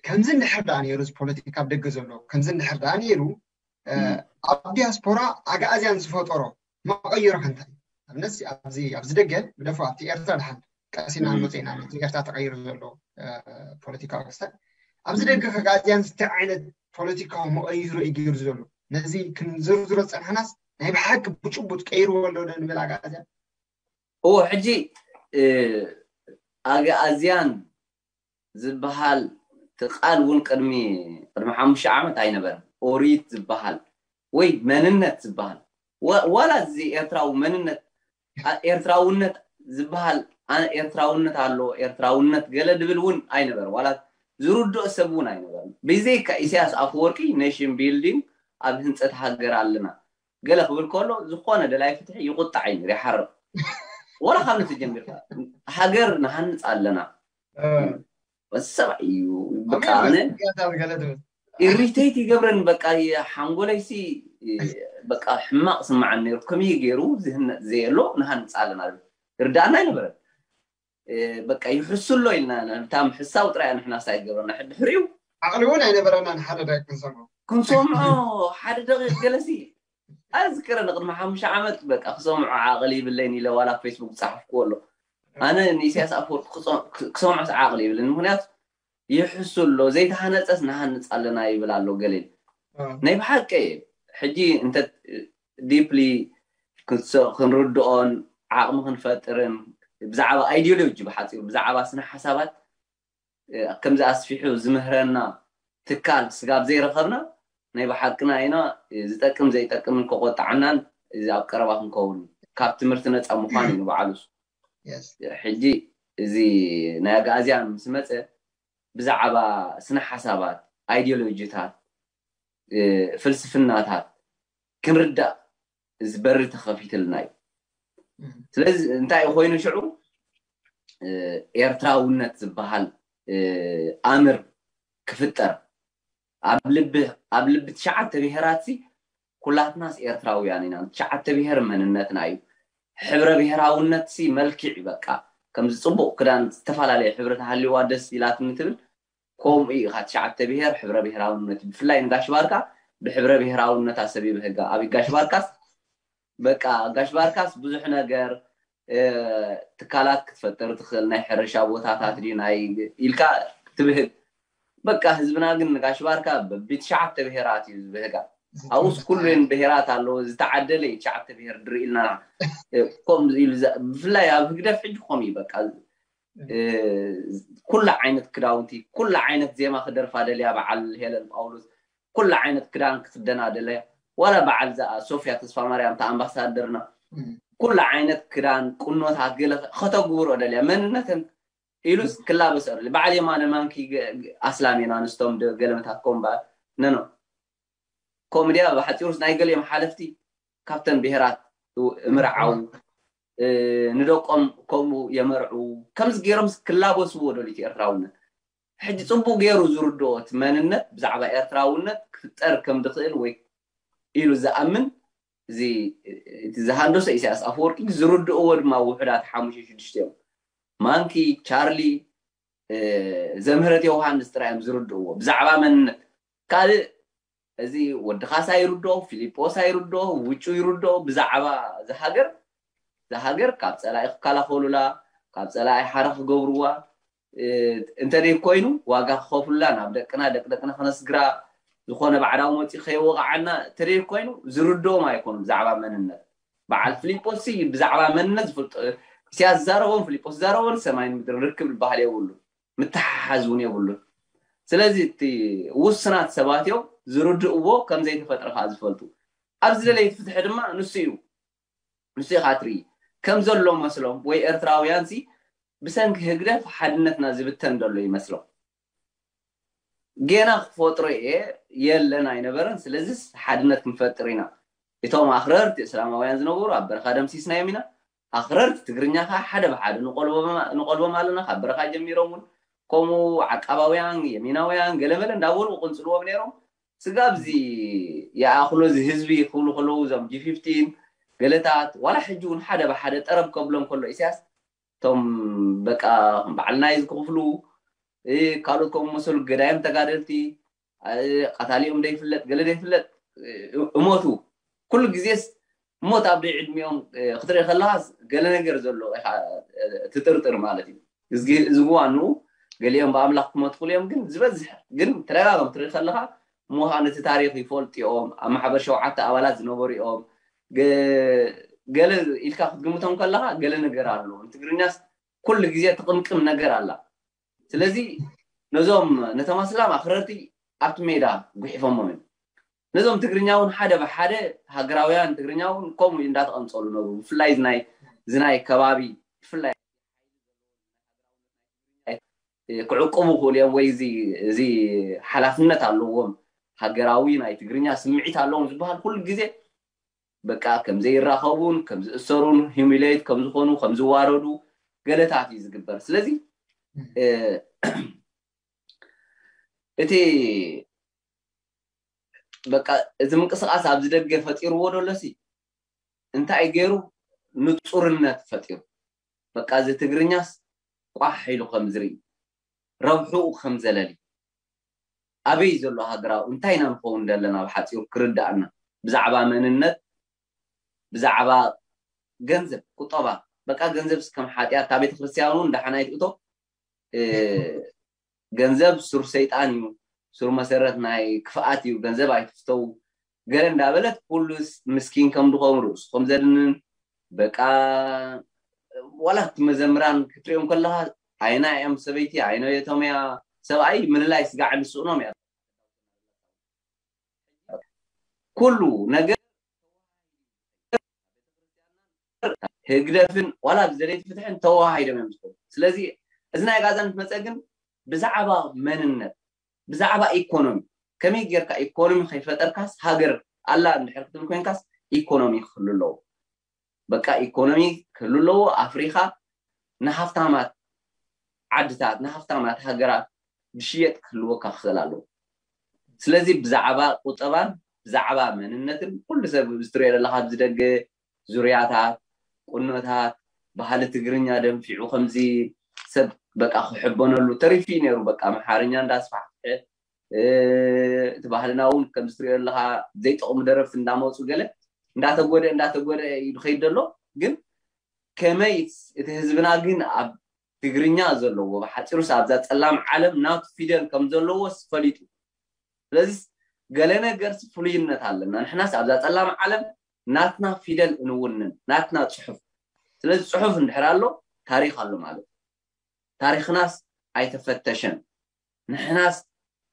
ከምዚ እንድሕር ደኣ ነይሩ እዚ ፖለቲካ ኣብ ደገ ዘሎ ከምዚ እንድሕር ደኣ ነይሩ ኣብ ዲያስፖራ ኣግኣዝያን ዝፈጠሮ መቐይሮ ከንታይ ኣብነስ ኣብዚ ኣብዚ ደገ ግደፎ ኣብቲ ኤርትራ ድሓን ቀሲና መፅና ነቲ ኤርትራ ተቐይሩ ዘሎ ፖለቲካዊ ክስተት ኣብዚ ደገ ከጋዝያን ዝታይ ዓይነት ፖለቲካዊ መቐይሮ እዩ ገይሩ ዘሎ ነዚ ክንዝርዝሮ ዝፀናሕናስ ናይ ብሓቂ ብጭቡጥ ቀይርዎ ኣሎ ዶ ንብል ኣጋዝያን እዎ ሕጂ ኣግኣዝያን ዝበሃል እቲ ቃል እውን ቅድሚ ቅድሚ ሓሙሽተ ዓመት ኣይነበረን። ኦሪት ዝበሃል ወይ መንነት ዝበሃል ዋላ እዚ ኤርትራዊ መንነት ኤርትራውነት ዝበሃል ኤርትራውነት ኣሎ ኤርትራውነት ገለ ድብል እውን ኣይነበረ ዋላ ዝርድኦ ሰብ እውን ኣይነበረን። ብዘይካ ኢሳያስ ኣፈወርቂ ኔሽን ቢልዲንግ ኣብ ህንፀት ሃገር ኣለና ገለ ክብል ከሎ ዝኾነ ደላይ ፍትሒ ይቁጣዕ እዩ ይሓርቕ ወላ ካብ ነቲ ጀሚርካ ሃገር ንሃንፅ ኣለና ሰብኣይ እዩ በቃ ኣነ ኢሪቴት ይገብረን በቃ ሓንጎለይሲ በቃ ሕማቕ ስማዓን ነይሩ ከመይ ገይሩ ዝህነፅ ዘየሎ ንሃንፅ ኣለና ርዳእና ኣይነበረን በቃ ይሕሱ ኣሎ ኢልና እታ ምሕሳው ጥራይ ንሕና ሳይ ገበርና ድሕሪኡ ዓቕሊ እውን ኣይነበረና ንሓደ ደቂ ክንሰምዖ ክንሰምዖ ሓደ ደቂ ገለሲ ኣዝክረ ንቅድሚ ሓሙሽተ ዓመት በቃ ክሰምዖ ዓቕሊ ይብለይን ኢለ ዋላ ፌስቡክ ዝፀሓፍክዎ ኣሎ ኣነ ንኢሳያስ ኣፈወርቂ ክሰምዖስ ዓቕሊ ይብለኒ ምክንያቱ ይሕሱ ኣሎ ዘይተሃነፀስ ንሃንፅ ኣለና ይብል ኣሎ ገሌን ናይ ብሓቂ ሕጂ እንተ ዲፕሊ ክንርድኦን ዓቕሚ ክንፈጥርን ብዛዕባ ኣይዲዮሎጂ ብሓፂሩ ብዛዕባ ስነ ሓሳባት ከምዚ ኣስፊሑ ዝምህረና ትካል ስጋብ ዘይረኸብና ናይ ብሓቅና ኢና ዝጠቅም ዘይጠቅምን ከቆጣዓናን እዚ ኣብ ቀረባ ክንከውን ካብ ትምህርቲ ነፃ ምዃን እዩ ንባዕሉስ ሕጂ እዚ ናይ ኣግኣዝያን ምስ መፀ ብዛዕባ ስነ ሓሳባት ኣይዲዮሎጂታት ፍልስፍናታት ክንርዳእ እዚ በሪ ተኸፊትልና እዩ ስለዚ እንታይ ኮይኑ ሽዑ ኤርትራውነት ዝበሃል ኣምር ክፍጠር ኣብ ልቢ ኣብ ልቢ ትሽዓተ ብሄራት ኩላትናስ ኤርትራውያን ኢና ትሽዓተ ብሄር መንነትና እዩ ሕብረ ብሄራውነት ሲ መልክዕ በቃ ከምዚ ፅቡቅ ክዳን ዝተፈላለየ ሕብሪ ተሃልዋ ደስ ኢላትኒ ትብል ከምኡ እዩ ኢኻ ትሽዓተ ብሄር ሕብረ ብሄራውነት እዩ ብፍላይ ንጋሽ ባርካ ብሕብረ ብሄራውነት ኣሰብ ይብህጋ ኣብ ጋሽ ባርካስ በቃ ጋሽ ባርካስ ብዙሕ ነገር ትካላት ክትፈጥር ትኽእል ናይ ሕርሻ ቦታታት ድዩ ናይ ኢልካ ትብህግ በቃ ህዝብና ግን ንጋሽ ባርካ በቢ ትሽዓተ ብሄራት እዩ ዝብህጋ ኣብኡስ ኩሉን ብሄራት ኣለዎ ዝተዓደለ እዩ ትሽዓተ ብሄር ድርኢ ኢልና ከምኡ ኢሉ ብፍላይ ኣብ ህግደፍ ሕጂ ከምኡ እዩ በቃ ኩላ ዓይነት ክዳውንቲ ኩላ ዓይነት ዜማ ክደርፋ ደልያ በዓል ሄለን ጳውሎስ ኩላ ዓይነት ክዳን ክክደና ደልያ ዋላ በዓል ዛ ሶፍያ ተስፋማርያም ታ ኣምባሳደርና ኩላ ዓይነት ክዳን ቁኖታት ገለ ከተግብሮ ደልያ መንነተን ኢሉስ ክላበስ ደልያ በዓል የማነ ማንኪ ኣስላም ኢና ንስቶም ገለመታት ኮምባ ነኖ ኮምድያ ብሓፂሩስ ናይ ገሊኦም ሓለፍቲ ካብተን ብሄራት ምርዓው ንደቆም ከምኡ የመርዑ ከምዚ ገይሮም ክላበስዎ ደልዩ ኤርትራውነት ሕጂ ፅቡቅ ገይሩ ዝርድኦ እቲ መንነት ብዛዕባ ኤርትራውነት ክፍጠር ከም ድኽእል ወይ ኢሉ ዝኣምን እዚ ዝሃንደሶ ኢሳያስ ኣፈወርቂ ዝርድእዎ ድማ ውሑዳት ሓሙሽተ ሽዱሽተ እዮም ማንኪ ቻርሊ ዘምህረት ዮሃንስ ጥራይ እዮም ዝርድእዎ ብዛዕባ መንነት። ካልእ እዚ ወዲ ካሳ ይርድኦ፣ ፊሊጶስ ይርድኦ፣ ውጩ ይርድኦ። ብዛዕባ ዝሃገር ዝሃገር ካብ ፀላኢ ክከላኸሉላ፣ ካብ ፀላኢ ሓራ ክገብርዋ እንተደይ ኮይኑ ዋጋ ክኸፍሉላ፣ ናብ ደቅና ደቅደቅና ክነስግራ፣ ዝኾነ ባዕዳዊ መፂ ከይወቃዓና እንተደይ ኮይኑ ዝርድኦም ኣይኮኑ ብዛዕባ መንነት። በዓል ፊሊጶስ ብዛዕባ መንነት ዝፈልጦ፣ ኢሳያስ ዛረቦን ፊሊጶስ ዛረቦን ሰማይን ምድሪ ርክብ ዝበሃል የብሉ፣ ምትሓሓዝ እውን የብሉን። ስለዚ እቲ ውስናት ሰባት እዮም ዝርድእዎ፣ ከም ዘይተፈጥረ ከዓ ዝፈልጡ። ኣብዚ ደለይቲ ፍትሒ ድማ ንሱ እዩ። ንሱ ኢኻ ትርኢ። ከም ዘሎ መስሎም ወይ ኤርትራውያን ሲ ብሰንኪ ህግደፍ ሓድነትና ዝብተን ዘሎ ይመስሎም። ጌና ክፈጥሮ እየ የለን ኣይነበረን። ስለዚስ ሓድነት ክንፈጥር ኢና። እቶም ኣኽረርቲ እስላማውያን ዝነበሩ ኣብ በረኻ ደምሲስናዮም ኢና። ኣኽረርቲ ትግርኛ ከዓ ሓደ ብሓደ ንቆልቦም ኣለና። ካብ በረኻ ጀሚሮም እውን ከምኡ ዓቃባውያን፣ የሚናውያን ገለመለ እንዳበሉ ቅንፅልዎም ነይሮም። ስጋብ እዚ ይኣኽሎ እዚ ህዝቢ ክብሉ ከለዉ እዞም ጂ ፊፍቲን ገለታት ዋላ ሕጂ እውን ሓደ ብሓደ ጠረብ ከብሎም ከሎ ኢሳያስ እቶም በቃ በዓል ናይዝ ክኽፍሉ ካልኦት ከምኡ መሰሉ ገዳይም ተጋደልቲ ቀታሊኦም ደይፍለጥ ገለ ደይፍለጥ እሞቱ ኩሉ ግዜስ ሞት ኣብ ደይ ዕድሚኦም ክትርኢ ከለኻስ ገለ ነገር ዘሎ ትጥርጥር ማለት እዩ። እዚ እዋኑ ገሊኦም ብኣምላኽ ክመትኩሉ እዮም ግን ዝበዝሕ ግን ተደጋጋም ትርኢ ከለኻ ምዃን እቲ ታሪኽ ይፈልጡ እዮም። ኣብ ማሕበር ሸውዓተ ኣባላት ዝነበሩ እዮም። ገለ ኢልካ ክትግምቶም ከለኻ ገለ ነገር ኣሎ። ትግርኛስ ኩሉ ግዜ ትቕምቅም ነገር ኣላ። ስለዚ ነዞም ነቶም ኣስላም ኣኽረርቲ ኣብቲ ሜዳ ጉሒፎሞም እዮም። ነዞም ትግርኛ እውን ሓደ ብሓደ ሃገራውያን ትግርኛ እውን ከምኡ እንዳተቐንፀሉ ነበሩ። ብፍላይ ዝናይ ዝናይ ከባቢ ብፍላይ ክዕቅቡ ክእሉ እዮም ወይ እዚ ሓላፍነት ኣለዎም ሃገራዊ ናይ ትግርኛ ስምዒት ኣለዎም ዝበሃል ኩሉ ግዜ በቃ ከም ዘይራኸቡን ከም ዝእሰሩን humiliate ከም ዝኾኑ ከም ዝዋረዱ ገለታት እዩ ዝግበር። ስለዚ እቲ በቃ እዚ ምንቅስቃስ ኣብዚ ደገ ፈጢርዎ ዶ ኣለሲ እንታይ ገይሩ ንፁርነት ፈጢሩ በቃ እዚ ትግርኛስ ቋሕ ኢሉ ከም ዝርኢ ረብሕኡ ከም ዘለሊ ኣበይ ዘሎ ሃገራዊ እንታይ ኢና ንኸውን ዘለና ብሓፂሩ ክርዳእና ብዛዕባ መንነት ብዛዕባ ገንዘብ ቁጠባ በቃ ገንዘብ እስከም ሓጢኣት እታ ቤተክርስትያን እውን ዳሓናይ ትእቶ ገንዘብ ሱር ሰይጣን እዩ ሱር መሰረት ናይ ክፍኣት እዩ ገንዘብ ኣይትፍተው ገለ እንዳበለት ኩሉ ምስኪን ከም ድኾም ርእሱ ከም ዘድንን በቃ ዋላ እቲ መዘምራን ክትሪኦም ከለኻ ኣይና እዮም ሰበይቲ ኣይነ የቶም እያ ሰብኣይ ምልላይ ስጋዕ ንስእኖም እያ ኩሉ ነገር ህግደፍን ዋላ ብዘለይቲ ፍትሕን ተዋሃሂዶም እዮም ዝኮኑ ስለዚ እዚ ናይ ጋዛ ምስ መፀ ግን ብዛዕባ መንነት ብዛዕባ ኢኮኖሚ ከመይ ጌርካ ኢኮኖሚ ከይፈጠርካስ ሃገር ኣላ እንድሕር ክትብል ኮይንካስ ኢኮኖሚ ክህሉ ኣለዎ በቃ ኢኮኖሚ ክህሉ ኣለዎ ኣፍሪካ ንሃፍታማት ዓድታት ንሃፍታማት ሃገራት ዝሽየጥ ክህልወካ ክኽእል ኣለዎ ስለዚ ብዛዕባ ቁጠባን ብዛዕባ መንነትን ኩሉ ሰብ ዝትሪኦ ዘለካ ኣብዚ ደገ ዙርያታት ቁኖታት ባህሊ ትግርኛ ደንፊዑ ከምዚ ሰብ በቃ ክሕበነሉ ተሪፊ ነይሩ በቃ ኣምሓርኛ እንዳስፋሕፍሐ እቲ ባህልና እውን ከምዚ ትሪኦ ኣለካ ዘይጠቕሙ ደረፍቲ እንዳመፁ ገለ እንዳተጎደ እንዳተጎደ እዩ ዝኸይድ ዘሎ ግን ከመይ እቲ ህዝብና ግን ኣብ ትግርኛ ዘለዎ ብሓፂሩስ ኣብዛ ፀላም ዓለም ናቱ ፊደል ከም ዘለዎስ ፈሊጡ ስለዚ ገለ ነገርስ ፍሉይነት ኣለና ንሕናስ ኣብዛ ፀላም ዓለም ናትና ፊደል እንውንን ናትና ፅሑፍ ስለዚ ፅሑፍ እንድሕር ኣሎ ታሪክ ኣሎ ማለት ታሪክናስ ኣይተፈተሸን ንሕናስ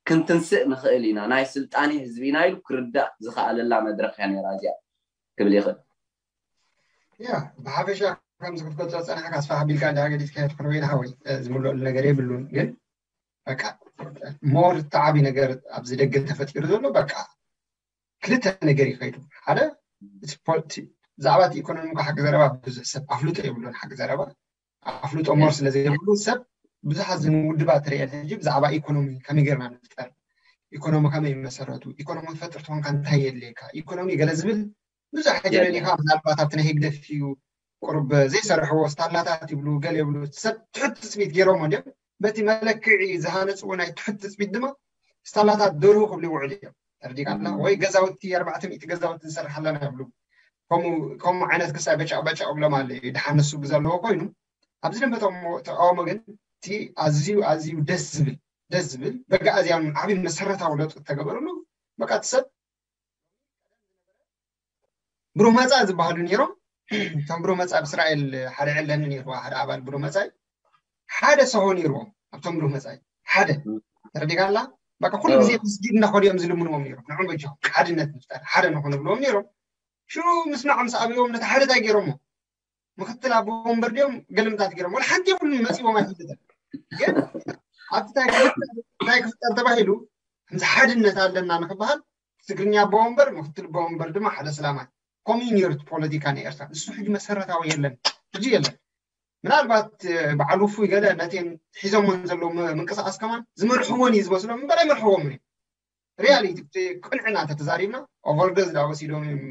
ክንትንስእ ንኽእል ኢና ናይ ስልጣኔ ህዝቢ ኢና ኢሉ ክርዳእ ዝኸኣለላ መድረክ እያ ነራ እዚኣ ክብል ይኽእል ያ ብሓፈሻ ከምዚ ክትገልፆ ፀናሕካ ኣስፋሕ ኣቢልካ እንዳ ገዲፍካ ትክርበይና ሓወይ ዝምልኦሉ ነገር የብሉን ግን በቃ ሞር እቲ ዓብዪ ነገር ኣብዚ ደገ ተፈጢሩ ዘሎ በቃ ክልተ ነገር ይኸይዱ ሓደ ብዛዕባ እቲ ኢኮኖሚ ሓቂ ዘረባ ብዙሕ ሰብ ኣፍልጦ የብሉን ሓቂ ዘረባ ኣፍልጦ ሞር ስለ ዘይብሉ ሰብ ብዙሓት ዝምውድባ ትርእየን ሕጂ ብዛዕባ ኢኮኖሚ ከመይ ጌርና ንፍጠር ኢኮኖሚ ከመይ ይመሰረቱ ኢኮኖሚ ትፈጥር ትኾንካ እንታይ የድልየካ ኢኮኖሚ ገለ ዝብል ብዙሕ ሕጂ ረዲኻ ምናልባት ኣብቲ ናይ ህግደፍ እዩ ቁርብ ዘይሰርሕዎ ስታላታት ይብሉ ገለ ይብሉ ሰብ ትሕቲ ትፅቢት ገይሮሞ እንዲም በቲ መለክዒ ዝሃነፅዎ ናይ ትሑት ትፅቢት ድማ ስታላታት ደርሁ ክብሉ ይውዕሉ እዮም። ተረዲእካ ኣለኻ? ወይ ገዛውቲ ኣርባዕተ ሚእቲ ገዛውቲ ንሰርሕ ኣለና ይብሉ። ከምኡ ከምኡ ዓይነት ክሳይ በጫቕ በጫቕ ይብሎም ኣለዉ። ድሓን ንሱ ብዘለዎ ኮይኑ ኣብዚ ደንበ ተቃውሞ ተቃውሞ ግን እቲ ኣዝዩ ኣዝዩ ደስ ዝብል ደስ ዝብል በጋእዝያን ዓብዪ መሰረታዊ ለውጢ ተገበረሉ። በቃ እቲ ሰብ ብሩህ መጻኢ ዝበሃሉ ነይሮም። እቶም ብሩህ መጻኢ ኣብ እስራኤል ሓደ ዕለኒ ነይርዋ ሓደ ኣባል ብሩህ መጻኢ ሓደ ሰሆ ነይርዎም ኣብቶም ብሩህ መጻኢ ሓደ ተረዲካ ኣላ። በቃ ኩሉ ግዜ መስጊድ እናኸዱ እዮም ዝልምንዎም ነይሮም። ንዑ በጃኹም ሓድነት ንፍጠር ሓደ ንኹን ብልዎም ነይሮም። ሽዑ ምስማዕ ምስ ኣብዎም ነቲ ሓደ እንታይ ገይሮሞ ምክትል ኣቦ ወንበር ድዮም ገልምታት ገይሮም ወላ ሓንቲ የብሉን መፂዎም ኣይፈልጥን። ግን ኣብቲ እንታይ ክፍጠር እንታይ ክፍጠር ተባሂሉ ከምዚ ሓድነት ኣለና ንክበሃል ትግርኛ ኣቦ ወንበር ምክትል ኣቦ ወንበር ድማ ሓደ ስላማይ ኮሚኒዮርት ፖለቲካ ናይ ኤርትራ ንሱ ሕጂ መሰረታዊ የለን ሕጂ የለን። ምናልባት በዓል ውፉይ ገለ ነቴን ሒዞሞን ዘለዉ ምንቅስቃስ ከማን ዝመርሕዎን እዩ ዝመስሎም እምበር ኣይመርሕዎምን እዩ። ሪያሊቲ ቅንዕና ተተዛሪብና ኦቨርዶዝ ዳ ወሲዶም እዮም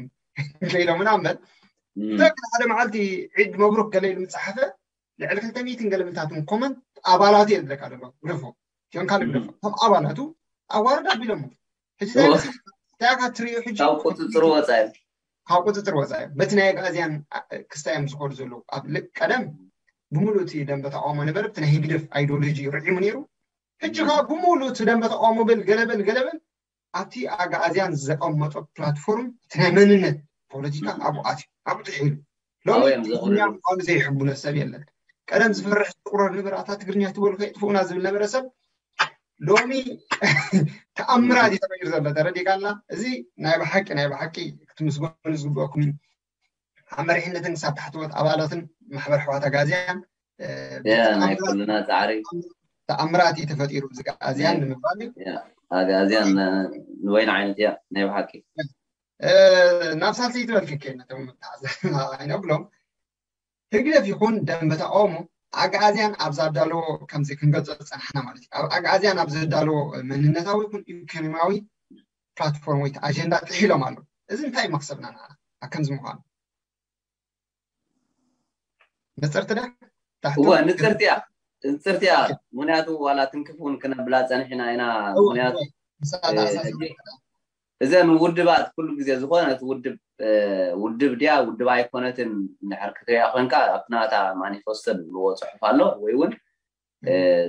ኢሎም ምናምን ብተወክል ሓደ መዓልቲ ዒድ መብሩክ ገለ ኢሉ ምፅሓፈ ልዕሊ ክልተ ሚእትን ገለ ምልታትን ኮመንት ኣባላቱ እየ ዝብለካ ዘሎ ግደፎ ቲዮን ካልእ ግደፎ ከም ኣባላቱ ኣዋርድ ኣቢሎሞ ሕጂ እንታይ መሲልካ እንታይ ኢኻ ትሪኦ ሕጂ ካብ ቁፅፅር ወፃ እዩ ካብ ቁፅፅር ወፃ እዩ በቲ ናይ ኣግኣዝያን ክስታይ እዮም ዝኸዱ ዘለዉ ኣብ ልቅ ቀደም ብምሉእ እቲ ደንበ ተቃውሞ ነበረ ብቲ ናይ ህግደፍ ኣይዲዮሎጂ ርዒሙ ነይሩ ሕጂ ከዓ ብምሉእ እቲ ደንበ ተቃውሞ በል ገለበል ገለበል ኣብቲ ኣግኣዝያን ዘቀመጦ ፕላትፎርም እቲ ናይ መንነት ፖለቲካ ኣብኡ ኣትዩ ኣብኡ ጥሒሉ ሎሚ ትግርኛ ምኳኑ ዘይሕቡነ ሰብ የለን ቀደም ዝፈርሕ ዝቁረር ነበረ ኣታ ትግርኛ ትበሉ ከይጥፍኡና ዝብል ነበረ ሰብ ሎሚ ተኣምራት እዩ ተቀይሩ ዘሎ ተረዲካ ኣላ እዚ ናይ ብሓቂ ናይ ብሓቂ ክትምስገኑ ዝግበአኩም እዩ ኣብ መሪሕነትን ክሳብ ታሕተዎት ኣባላትን ማሕበር ኣሕዋት ኣግኣዝያን ናይ ኩልና ፃዕሪ ተኣምራት እዩ ተፈጢሩ እዚ ኣግኣዝያን ንምባል እዩ ኣግኣዝያን ንበይና ዓይነት እያ ናይ ብሓቂ ናብ ሳልሰይቲ በልክከ ነቶም ኣይነብሎም ህግደፍ ይኹን ደንበ ተቃውሞ ኣግኣዝያን ኣብ ዘዳለዎ ከምዚ ክንገልጾ ዝጸናሕና ማለት እዩ። ኣብ ኣግኣዝያን ኣብ ዘዳለዎ መንነታዊ ይኹን ኢኮኖሚያዊ ፕላትፎርም ወይ ኣጀንዳ ጥሒሎም ኣለዉ። እዚ እንታይ እዩ መኽሰብና ንዓና ኣብ ከምዚ ምዃኑ? ንጽርቲ ድያ? እወ ንጽርቲ እያ ንጽርቲ እያ ምክንያቱ ዋላ ትንክፍ እውን ክነብላ ጸኒሕና ኢና ምክንያቱ እዘን ውድባት ኩሉ ግዜ ዝኾነት ውድብ ውድብ ድያ ውድብ ኣይኮነትን እንድሕር ክትሪኣ ኮንካ ኣብቲ ናታ ማኒፌስቶ ዝብልዎ ፅሑፍ ኣሎ ወይ እውን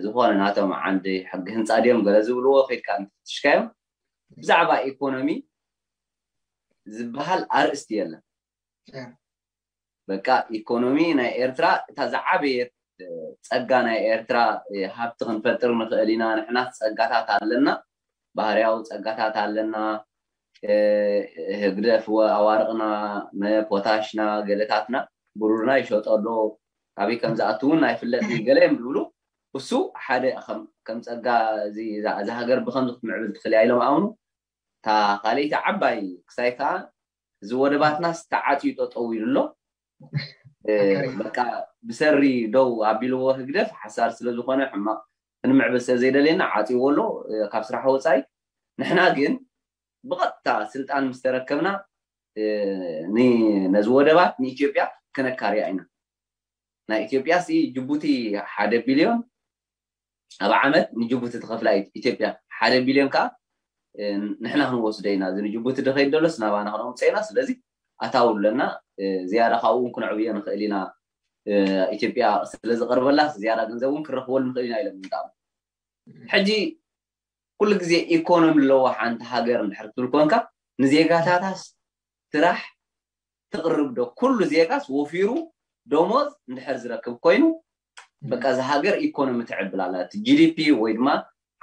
ዝኾነ ናቶም ዓንዲ ሕጊ ህንፃ ድዮም ገለ ዝብልዎ ከይድካ እንትፍትሽካዮም ብዛዕባ ኢኮኖሚ ዝበሃል ኣርእስቲ የለን በቃ ኢኮኖሚ ናይ ኤርትራ እታ ዝዓበየት ጸጋ ናይ ኤርትራ ሃብቲ ክንፈጥር ንኽእል ኢና ንሕና ጸጋታት ኣለና ባህርያዊ ጸጋታት ኣለና ህግደፍ ኣዋርቕና ፖታሽና ገለታትና ብሩርና ይሸጦ ኣሎ ካበይ ከም ዝኣቱ እውን ኣይፍለጥን ገለ እዮም ዝብሉ እሱ ሓደ ከም ጸጋ እዚ ሃገር ብከምዚ ክትምዕብል ትኽእል እያ ኢሎም ኣምኑ እታ ካልኣይቲ ዓባይ ክሳይ ከዓ እዚ ወደባትናስ ተዓፅዩ ጠጠው ኢሉ ኣሎ በቃ ብሰሪ ደው ኣቢልዎ ህግደፍ ሓሳር ስለዝኾነ ሕማቕ ክንምዕብል ስለዘይደልየና ዓፅይዎ ኣሎ ካብ ስራሕ ወፃኢ ንሕና ግን ብቐጥታ ስልጣን ምስ ተረከብና ነዚ ወደባት ንኢትዮጵያ ክነካርያ ኢና ናይ ኢትዮጵያ ሲ ጅቡቲ ሓደ ቢልዮን ኣብ ዓመት ንጅቡቲ ትኸፍላ ኢትዮጵያ ሓደ ቢልዮን ከዓ ንሕና ክንወስዶ ኢና እዚ ንጅቡቲ ድኸይድ ደሎስ ናባና ክነምፀ ኢና ስለዚ ኣታው ኣለና ዝያዳ ካብኡ እውን ክነዕብዮ ንኽእል ኢና ኢትዮጵያ ስለዝቐርበላ ዝያዳ ገንዘብ እውን ክንረኽበሉ ንኽእል ኢና ኢሎም ምጣም ሕጂ ኩሉ ግዜ ኢኮኖሚ ኣለዎ ሓንቲ ሃገር እንድሕር ትብል ኮንካ ንዜጋታታስ ስራሕ ትቕርብ ዶ ኩሉ ዜጋስ ወፊሩ ደሞዝ እንድሕር ዝረክብ ኮይኑ በቃ እዚ ሃገር ኢኮኖሚ ትዕብል ኣላ እቲ ጂዲፒ ወይ ድማ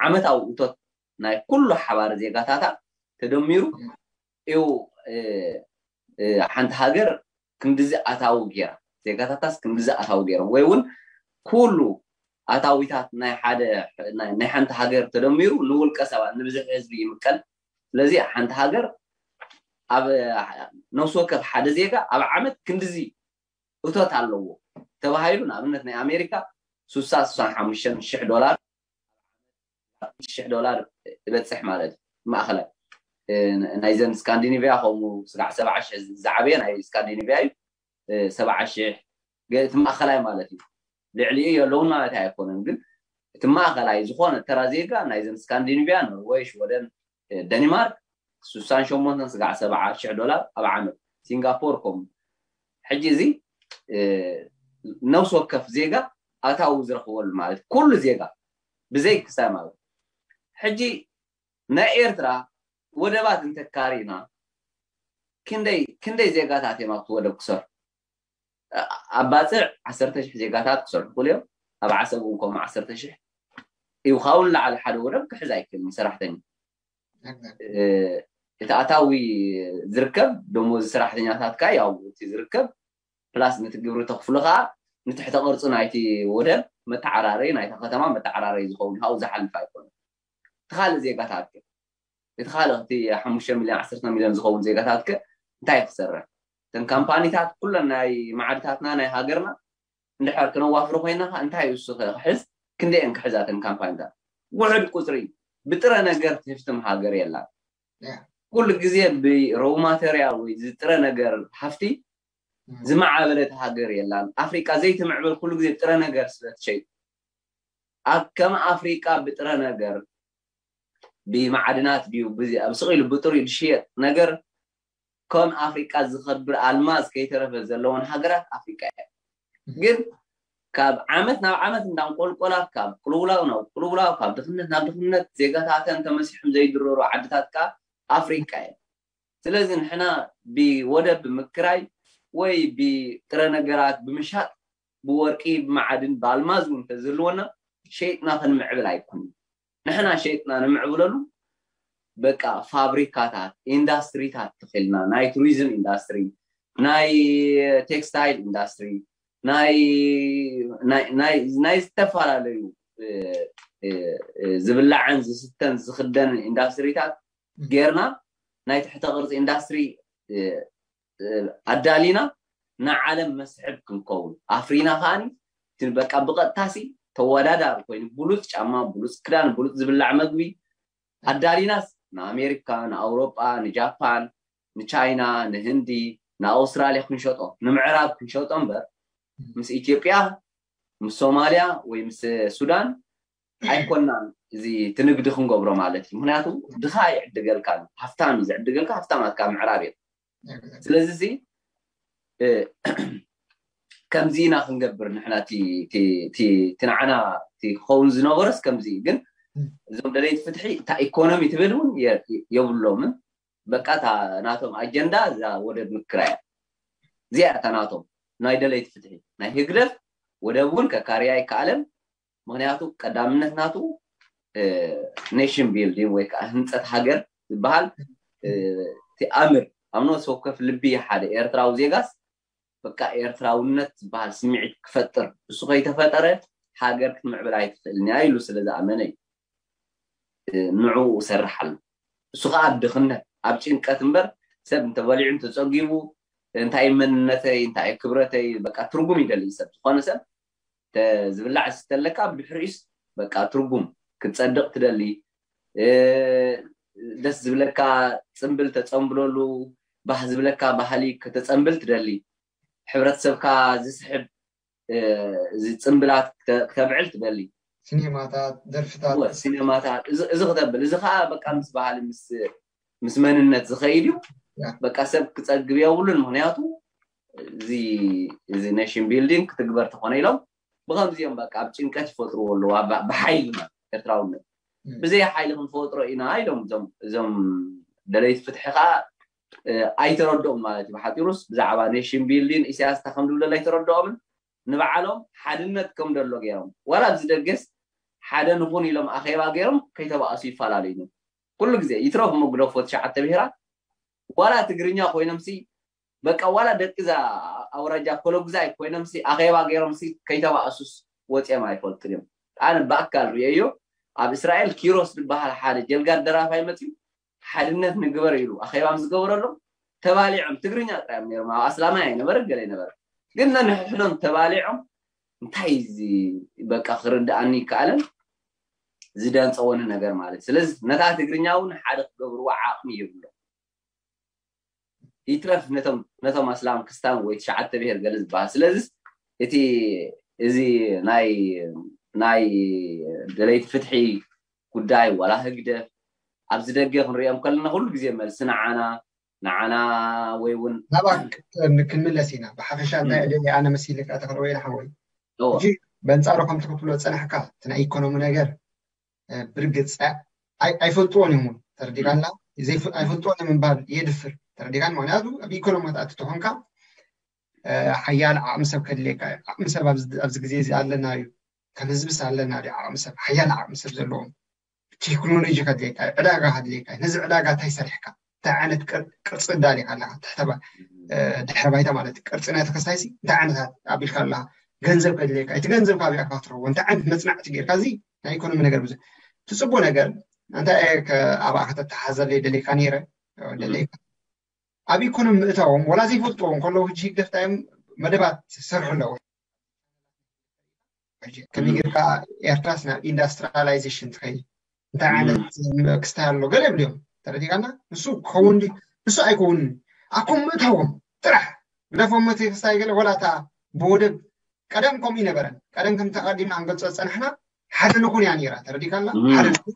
ዓመታዊ እቶት ናይ ኩሉ ሓባር ዜጋታታ ተደሚሩ እዩ ሓንቲ ሃገር ክንድዚ ኣታዊ ገይራ ዜጋታታስ ክንድዚ ኣታዊ ገይሮም ወይ እውን ኩሉ ኣታዊታት ናይ ሓደ ናይ ሓንቲ ሃገር ተደሚሩ ንውልቀ ሰባት ንብዝሒ ህዝቢ ይምቀል ስለዚ ሓንቲ ሃገር ኣብ ነፍሲ ወከፍ ሓደ ዜጋ ኣብ ዓመት ክንድዚ እቶት ኣለዎ ተባሂሉ ንኣብነት ናይ ኣሜሪካ ሱሳ ሱሳን ሓሙሽተን ሽሕ ዶላር ሽሕ ዶላር ይበፅሕ ማለት እዩ ማእኸላይ ናይዘን ስካንዲኒቪያ ከምኡ ስጋዕ ሰብዓ ሽሕ ዝዓበየ ናይ ስካንዲኒቪያ እዩ ሰብዓ ሽሕ እቲ ማእኸላይ ማለት እዩ ልዕሊኡ የለውን ማለት ኣይኮነን ግን እቲ ማእኸላይ ዝኾነ ተራ ዜጋ ናይዘን ስካንዲኒቪያ፣ ኖርወይ፣ ሽወደን፣ ደኒማርክ ስሳን ሸሞንተን ስጋዕ ሰብዓ ሽሕ ዶላር ኣብ ዓመት። ሲንጋፖር ከምኡ። ሕጂ እዚ ነብሲ ወከፍ ዜጋ ኣታዊ ዝረኽበሉ ማለት ኩሉ ዜጋ ብዘይ ክሳይ ማለት። ሕጂ ናይ ኤርትራ ወደባት እንተካሪና ክንደይ ክንደይ ዜጋታት እዮም ኣብቲ ወደብ ክሰርሑ? ኣብ ባፅዕ ዓሰርተ ሽሕ ዜጋታት ክሰርሑ ክእሉ እዮም። ኣብ ዓሰብ እውን ከምኡ ዓሰርተ ሽሕ ይውኻውን ላዕሊ ሓደ ወደብ ክሕዝ ኣይክእልን ሰራሕተኛ። እቲ ኣታዊ ዝርከብ ደሞዝ ሰራሕተኛታትካ ያው እቲ ዝርከብ ፕላስ ነቲ ግብሪ ተኽፍሎ ከዓ ንትሕተ ቅርፂ ናይቲ ወደብ መተዓራረይ ናይታ ከተማ መተዓራረይ ዝኸውን ካብኡ ዝሓልፍ ኣይኮነን። እቲ ካልእ ዜጋታት ከ? እቲ ካልእ እቲ ሓሙሽተ ሚልዮን ዓሰርተ ሚልዮን ዝኸውን ዜጋታት ከ እንታይ ክሰርሕ? እተን ካምፓኒታት ኩለን ናይ መዓድታትና ናይ ሃገርና እንድሕር ክነዋፍሮ ኮይና ከዓ እንታይ እዩ እሱ ክሕዝ? ክንደየን ክሕዛ እተን ካምፓኒታት? ውሕድ ቁፅሪ። ብጥረ ነገር ትህፍትም ሃገር የላን። ኩሉ ግዜ ብሮው ማተሪያል ወይ ዝጥረ ነገር ሃፍቲ ዝማዕበለት ሃገር የላን። ኣፍሪቃ ዘይትምዕብል ኩሉ ግዜ ጥረ ነገር ስለ ትሸይጥ ኣብ ከም ኣፍሪቃ ብጥረ ነገር ብማዕድናት ድዩ ኣብ ስቕ ኢሉ ብጥሪኡ ዝሽየጥ ነገር ከም ኣፍሪቃ ዝኸብር ኣልማዝ ከይተረፈ ዘለዎን ሃገራት ኣፍሪቃ እየ። ግን ካብ ዓመት ናብ ዓመት እንዳንቆልቆላ ካብ ቅልውላው ናብ ቅልውላው ካብ ድኽነት ናብ ድኽነት ዜጋታተን ተመሲሖም ዘይድረሩ ዓድታት ከዓ ኣፍሪቃ እየ። ስለዚ ንሕና ብወደብ ብምክራይ ወይ ብጥረ ነገራት ብምሻጥ ብወርቂ ብመዓድን ብኣልማዝ እውን እንተዝህልወና ሸይጥና ክንምዕብል ኣይኮንን። ንሕና ሸይጥና ንምዕብለሉ በቃ ፋብሪካታት ኢንዳስትሪታት ተኺልና ናይ ቱሪዝም ኢንዳስትሪ ናይ ቴክስታይል ኢንዳስትሪ ናይ ዝተፈላለዩ ዝብላዕን ዝስተን ዝኽደንን ኢንዳስትሪታት ጌርና ናይ ትሕተ ቅርፂ ኢንዳስትሪ ኣዳሊና ንዓለም መስሕብ ክንከውን ኣፍሪና ከዓኒ በቃ ብቐጥታሲ ተወዳዳሪ ኮይኑ ብሉፅ ጫማ ብሉፅ ክዳን ብሉፅ ዝብላዕ መግቢ ኣዳሊናስ ንኣሜሪካ ንኣውሮጳ ንጃፓን ንቻይና ንህንዲ ንኣውስትራልያ ክንሸጦ ንምዕራብ ክንሸጦ እምበር ምስ ኢትዮጵያ ምስ ሶማልያ ወይ ምስ ሱዳን ኣይኮናን እዚ ትንግዲ ክንገብሮ ማለት እዩ። ምክንያቱ ድኻ ይዕድገልካ ሃፍታም እዩ ዝዕድገልካ ሃፍታማትካ ምዕራብ እዮም። ስለዚ እዚ ከምዚ ኢና ክንገብር ንሕና እቲ ንዓና ክኸውን ዝነበረስ ከምዚ እዩ። ግን እዞም ደለይቲ ፍትሒ እታ ኢኮኖሚ ትብል እውን የብሎምን። በቃ እታ ናቶም ኣጀንዳ እዛ ወደብ ምክራያ እዚኣ እታ ናቶም ናይ ደለይቲ ፍትሒ ናይ ህግደፍ ወደብ እውን ከካርያ ኣይከኣለን። ምክንያቱ ቀዳምነት ናቱ ኔሽን ቢልዲንግ ወይ ከዓ ህንፀት ሃገር ዝበሃል እቲ ኣምር ኣብ ነፍሲ ወከፍ ልቢ ሓደ ኤርትራዊ ዜጋስ በቃ ኤርትራውነት ዝበሃል ስምዒት ክፈጥር እሱ ከይተፈጠረ ሃገር ክትምዕብል ኣይትኽእልን እያ ኢሉ ስለ ዝኣመነ እዩ። ንዕኡ እሰርሕ ኣሎ። እሱ ከዓ ኣብ ድኽነት ኣብ ጭንቀት እምበር ሰብ እንተበሊዑ እንተፀጊቡ እንታይ መንነተይ እንታይ ክብረተይ በቃ ትርጉም ይደሊ ሰብ ዝኾነ ሰብ ዝብላዕ ዝስተ ኣለካ ብድሕሪኡስ በቃ ትርጉም ክትፀድቕ ትደሊ ደስ ዝብለካ ፅምብል ተፀምብለሉ ባህ ዝብለካ ባህሊ ከተፀምብል ትደሊ ሕብረተሰብካ ዝስሕብ እዚ ፅምብላት ክተብዕል ትደሊ ሲኔማታት ደርፍታት ሲኔማታት እዚ ክተብል እዚ ከዓ በቃ ምስ ባህሊ ምስ መንነት ዝኸይድ እዩ። በቃ ሰብ ክፀግብ የብሉን። ምክንያቱ እዚ ኔሽን ቢልዲንግ ክትግበር ተኾነ ኢሎም ብከምዚኦም በቃ ኣብ ጭንቀት ይፈጥርዎ ኣለዉ ብሓይሊ ኤርትራውነት ብዘይ ሓይሊ ክንፈጥሮ ኢና ኢሎም እዞም ደለይቲ ፍትሒ ከዓ ኣይተረድኦም ማለት እዩ። ብሓፂሩስ ብዛዕባ ኔሽን ቢልዲንግ ኢሳያስ እንታይ ከም ዝብለሉ ኣይተረድኦምን። ንባዕሎም ሓድነት ከም ደሎ ገይሮም ዋላ ኣብዚ ደገስ ሓደ ንኹን ኢሎም ኣኼባ ገይሮም ከይተባእሱ ይፈላለዩ። ኩሉ ግዜ ይትረፍ እሞ ግደፎ ትሽዓተ ብሄራት ዋላ ትግርኛ ኮይኖምሲ በቃ ዋላ ደቂ እዛ ኣውራጃ ኮሎግዛይ ኮይኖምሲ ኣኼባ ገይሮምሲ ከይተባእሱስ ወፂኦም ኣይፈልጡን እዮም። ኣነ ብኣካል ርእየዮ ኣብ እስራኤል ኪሮስ ዝበሃል ሓደ ጀልጋድ ደራፋይ መፅዩ ሓድነት ንግበር ኢሉ ኣኼባ ምስ ዝገበረሎም ተባሊዖም ትግርኛ ጥራይ እዮም ነይሮም። ኣብ ኣስላማይ ኣይነበረ ገለ ኣይነበረ ግን ነንሕድሕዶም ተባሊዖም እንታይ እዚ በቃ ክርድኣኒ ይከኣለን ዝደንፀወኒ ነገር ማለት ስለዚ ነታ ትግርኛ እውን ሓደ ክገብርዎ ዓቕሚ የብሎም። ይትረፍ ነቶም ኣስላም ክስታን ወይ ትሽዓተ ብሄር ገለ ዝበሃል ስለዚ እቲ እዚ ናይ ናይ ደለይቲ ፍትሒ ጉዳይ ዋላ ህግደፍ ኣብዚ ደገ ክንሪኦም ከለና ኩሉ ግዜ መልሲ ንዓና ንዓና ወይ እውን ናባክ ክንምለስ ኢና። ብሓፈሻ እንታይ እደሊ ኣነ መሲልካ ተኽልወይና ሓወይ እወ፣ ሕጂ በንጻሩ ከምቲ ክትብሎ ጸናሕካ እቲ ናይ ኢኮኖሚ ነገር እ፣ ብርግጽ ኣይ- ኣይፈልጥዎን እዮም እውን ተረዲእካና። ዘይፍ- ኣይፈልጥዎን እዮም ምባል የድፍር ተረዲእካን። ምክንያቱ ኣብ ኢኮኖሚ ክትኣቱ ተኾንካ እ፣ ሓያል ዓቕሚ ሰብ ከድልየካ እዩ። ዓቕሚ ሰብ ኣብዚ ኣብዚ ግዜ እዚ ኣለና እዩ። ከም ህዝብስ ኣለና ድዩ ዓቕሚ ሰብ፣ ሓያል ዓቕሚ ሰብ ዘለዎም? ቴክኖሎጂ ከድልየካ እዩ፣ ዕዳጋ ከድልየካ እዩ። ነዚ ዕዳጋ እንታይ ሰሪሕካ፣ እንታይ ዓይነት ቅር- ቅርፂ እዳሊካ ኣለካ፣ ትሕተ ባ- እ፣ ድሕረ ባይታ ማለት እዩ። ቅርፂ ናይ ተከስታይሲ እንታይ ዓይነት ኣቢልካ ኣለካ፣ ገንዘብ ከድልየካ፣ እቲ ገንዘብ ካበይ ኢካ ትረክቦ፣ እንታይ ዓይነት መፅናዕቲ ጌርካ፣ እዚ ናይ ኢኮኖሚ ነገር ብዙ ትፅቡ ነገር እንታይ እየ ከ- ኣብኣ ከተተሓዘለይ ደሊካ ነይረ ደሊካ ኣብ ኢኮኖሚ ምእታዎም ወላ ዘይፈልጥዎም ከለዉ ሕጂ ህግደፍ እንታይ እዮም መደባት ዝሰርሑ ኣለዉ። ሕጂ ከመይ ጌርካ ኤርትራስ ናብ ኢንዳስትሪላይዜሽን ትኸይድ እንታይ ዓይነት ክስታይ ኣሎ ገለ ይብልዮም ተረዲካና። ንሱ ክኸውን ድዩ ንሱ ኣይከውንን ኣኮም ምእታዎም ጥራሕ ግደፎም እቲ ክስታይ ገለ ወላ እታ ብወደብ ቀደም ከምኡ ይነበረን ቀደም ከም ተቐዲምና ክንገልጾ ዝጸናሕና ሓደ ንኹን እያ ነይራ ተረዲካና። ሓደ ንኹን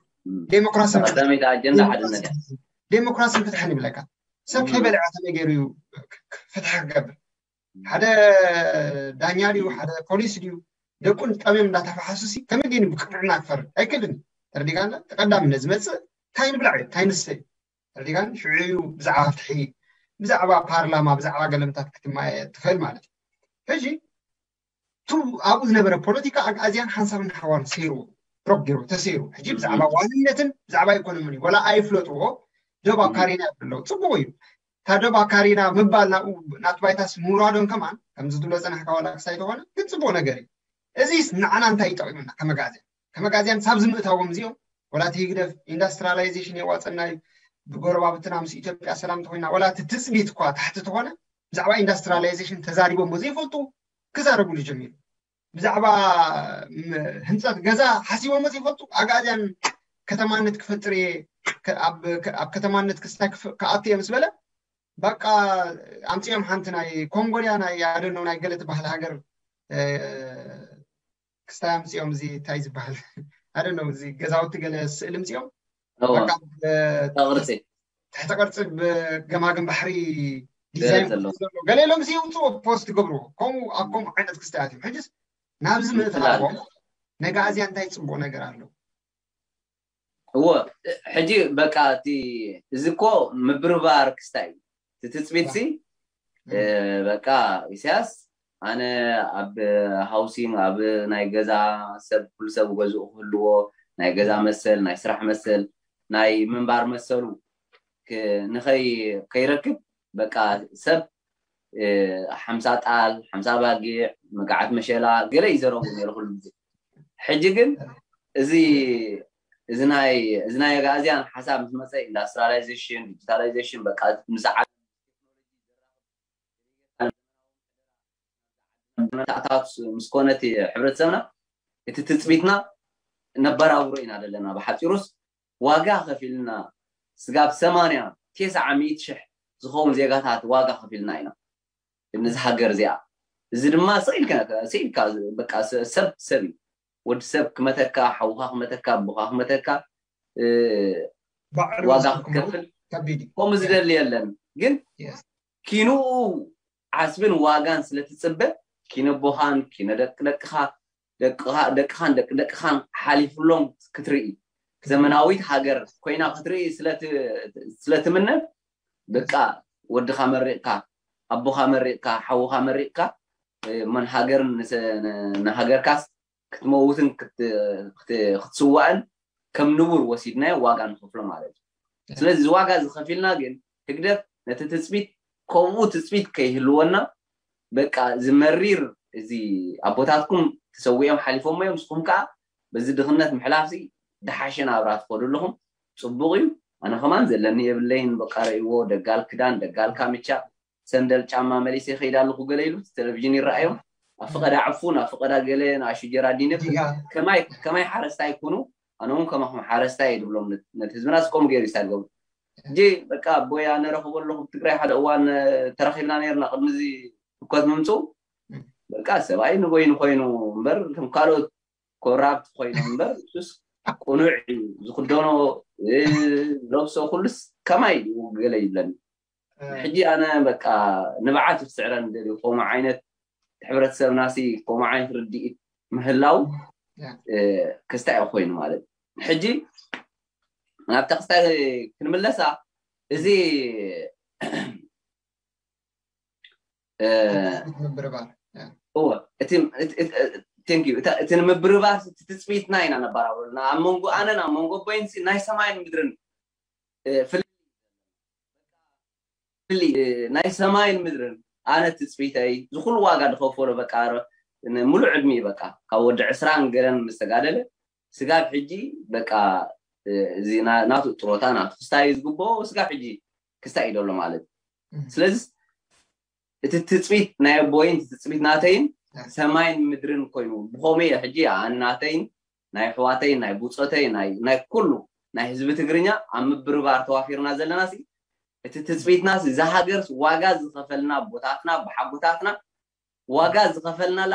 ዴሞክራስን ቀዳመይቲ ኣጀንዳ ሓድነት እያ። ዴሞክራስን ፍትሕን ይብለካ። ሰብ ከይበልዐ ከመይ ገይሩ እዩ ፍትሒ ክገብር? ሓደ ዳኛ ድዩ ሓደ ፖሊስ ድዩ ደቁን ጠምዮም እንዳተፋሓሱሲ ከመይ ገይሩ ብቅንዕና ክፈርድ ኣይክእልን። ተረዲካና። ተቀዳምነት ዝመፅእ እንታይ ንብላዕ እዩ እንታይ ንስተ እዩ ተረዲካን። ሽዑ እዩ ብዛዕባ ፍትሒ ብዛዕባ ፓርላማ ብዛዕባ ገለምታት ክትማየ ትኽእል ማለት እዩ። ሕጂ ቱ ኣብኡ ዝነበረ ፖለቲካ ኣግኣዝያን ሓንሳብን ሓዋን ሰይርዎ ብሮክ ገይሩ ተሰይሩ። ሕጂ ብዛዕባ ዋንነትን ብዛዕባ ኢኮኖሚን እዩ ወላ ኣይፍለጥዎ። ዶብ ኣካሪና ኣለዉ ፅቡቅ እዩ። እታ ዶብ ኣካሪና ምባል ናብኡ ናቱ ባይታስ ምውራዶን ከማን ከምዚ ዝብሎ ፀናሕካ ዋላ ክሳይ ተኾነ ግን ፅቡቅ ነገር እዩ። እዚስ ንዓና እንታይ ይጠቂሙና ከመጋዝያን ከመጋዝያን ሳብ ዝምእታዎም እዚኦም ወላ እቲ ህግደፍ ኢንዳስትሪላይዜሽን የዋፀና እዩ ብጎረባብትና ምስ ኢትዮጵያ ሰላም ተኮይና ወላ እቲ ትፅቢት እኳ ታሕቲ ተኾነ ብዛዕባ ኢንዳስትሪላይዜሽን ተዛሪቦሞ ዘይፈልጡ ክዛረቡሉ ጀሚሩ። ብዛዕባ ህንፀት ገዛ ሓሲቦሞ ዘይፈልጡ ኣግኣዝያን ከተማነት ክፈጥር እየ ኣብ ከተማነት ክስታይ ክኣቱ እየ ምስ በለ በቃ ኣምፅኦም ሓንቲ ናይ ኮንጎ ድያ ናይ ኣደኖ ናይ ገለ ትበሃል ሃገር ክስታይ ኣምፅኦም እዚ እንታይ ዝበሃል ኣደኖ እዚ ገዛውቲ ገለ ስእሊ ምፅኦም ቅርፂ ትሕተ ቅርፂ ብገማግም ባሕሪ ዲዛይን ዘሎ ገለ ኢሎም ሲ ውፅኡ ፖስት ይገብርዎ። ከምኡ ኣብ ከምኡ ዓይነት ክስታያት እዮም። ሕጅስ ናብዚ ምእታዎም ነጋእዝያ እንታይ ፅቡቅ ነገር ኣሎ? እዎ ሕጂ በቃ እቲ እዚ እኮ ምብርባር ክስታይ እዩ። እቲ ትፅቢት ሲ በቃ ኢሳያስ ኣነ ኣብ ሃውሲንግ ኣብ ናይ ገዛ ሰብ ኩሉ ሰብ ገዝኡ ክህልዎ ናይ ገዛ መሰል ናይ ስራሕ መሰል ናይ ምንባር መሰሉ ንኸይ ከይረክብ በቃ ሰብ ሓምሳ ጣል ሓምሳ ባጊዕ መጋዓት መሸላ ገለ ይዘረቡ ነይሩ ኩሉ ግዜ። ሕጂ ግን እዚ እዚ ናይ እዚ ናይ ኣግኣዝያን ሓሳብ ምስ መፀ ኢንዳስትሪላይዜሽን ዲጂታላይዜሽን በቃ ምስ ዓለም መታእታት ምስ ኮነት ሕብረተሰብና እቲ ትፅቢትና ነበራብሮ ኢና ዘለና። ብሓፂሩስ ዋጋ ከፊልና ስጋብ ሰማንያ ተስዓ ሚእቲ ሽሕ ዝኸውን ዜጋታት ዋጋ ከፊልና ኢና ነዚ ሃገር እዚኣ። እዚ ድማ ስኢልካ ስኢልካ በቃ ሰብ ሰብ እዩ። ወዲ ሰብ ክመተካ፣ ሓውኻ ክመተካ፣ ኣቦኻ ክመተካ ዋጋ ክትከፍል ከምኡ ዝደሊ የለን። ግን ኪንኡ ዓስብን ዋጋን ስለትፅበ ኪነ ኣቦኻን ኪነ ደቂ ደቅኻ ደቅኻን ደቂ ደቅኻን ሓሊፍሎም ክትርኢ ዘመናዊት ሃገር ኮይና ክትርኢ ስለትምነ በቃ ወድኻ መሪቕካ ኣቦኻ መሪቕካ ሓውኻ መሪቕካ መን ሃገርን ንሃገርካስ ክትመውትን ክትስዋእን ከም ንቡር ወሲድናዮ ዋጋ ንኸፍሎ ማለት እዩ። ስለዚ እዚ ዋጋ እዚ ከፊልና ግን ህግደፍ ነቲ ትፅቢት ከምኡ ትፅቢት ከይህልወና በቃ እዚ መሪር እዚ ኣቦታትኩም ተሰዊኦም ሓሊፎሞ እዮም ንስኹም ከዓ በዚ ድኽነት ምሕላፍ ሲ ዝሓሸ ናብራ ትኸዱ ኣለኹም። ፅቡቕ እዩ። ኣነ ከማን ዘለኒ የብለይን በቃ ረእይዎ ደጋል ክዳን ደጋል ካምቻ ሰንደል ጫማ መሊሰ ይኸይድ ኣለኹ ገለ ኢሉ ቴሌቪዥን ይረኣዮም ኣብ ፍቐዳ ዕፉን ኣብ ፍቐዳ ገለ ንኣሹ ጀራዲነ ከማይ ከማይ ሓረስታይ ኩኑ ኣነ እውን ከማኹም ሓረስታይ እየ ድብሎም ነቲ ህዝብና ስቆም ገይሩ ይሳገቡ እጂ በቃ ኣቦይ ኣነ ረኽቦ ኣለኹ ትግራይ ሓደ እዋን ተራኺብና ነርና ቅድሚ እዚ ህኮት ምምፅኡ በቃ ሰብኣይ ንበይኑ ኮይኑ እምበር እቶም ካልኦት ኮራፕት ኮይኖም እምበር እሱስ ቅኑዕ እዩ ዝኽደኖ፣ ዝለብሶ ኩሉስ ከማይ እዩ ገለ ይብለኒ። ሕጂ ኣነ በቃ ንብዓት ይስዕረን ደልዩ ከምኡ ዓይነት ሕብረተሰብናሲ ከምኡ ዓይነት ርድኢት ምህላው ክስታይ ኮይኑ ማለት ሕጂ ናብ ተክስታይ ክንምለሳ እዚ ምብርባር እወ እቲ ንምብርባር ትፅቢትና ኢና ነባራብረና ኣብ መንጎ ኣነን ኣብ መንጎ ቦይንሲ ናይ ሰማይን ምድርን ናይ ሰማይን ምድርን ኣነ ትፅቢተይ ዝኩሉ ዋጋ ዝኸፈሎ በቃ ሙሉእ ዕድሚ በቃ ካብ ወዲ ዕስራን ገለን ምስተጋደለ ስጋብ ሕጂ በቃ እዚ ናቱ ጥሮታ ናቱ ክስታይ ዝግብኦ ስጋብ ሕጂ ክስታይ እዩ ዘሎ ማለት ስለዚ እቲ ትፅቢት ናይ ኣቦይን ትፅቢት ናተይን ሰማይን ምድርን ኮይኑ ብኸመይ ሕጂ ኣን ናተይን ናይ ኣሕዋተይን ናይ ብፆተይ ናይ ኩሉ ናይ ህዝቢ ትግርኛ ኣብ ምብርባር ተዋፊርና ዘለና እቲ ትፅቢትና እዚ ሃገር ዋጋ ዝኸፈልና ቦታትና ብሓጎታትና ዋጋ ዝኸፈልናላ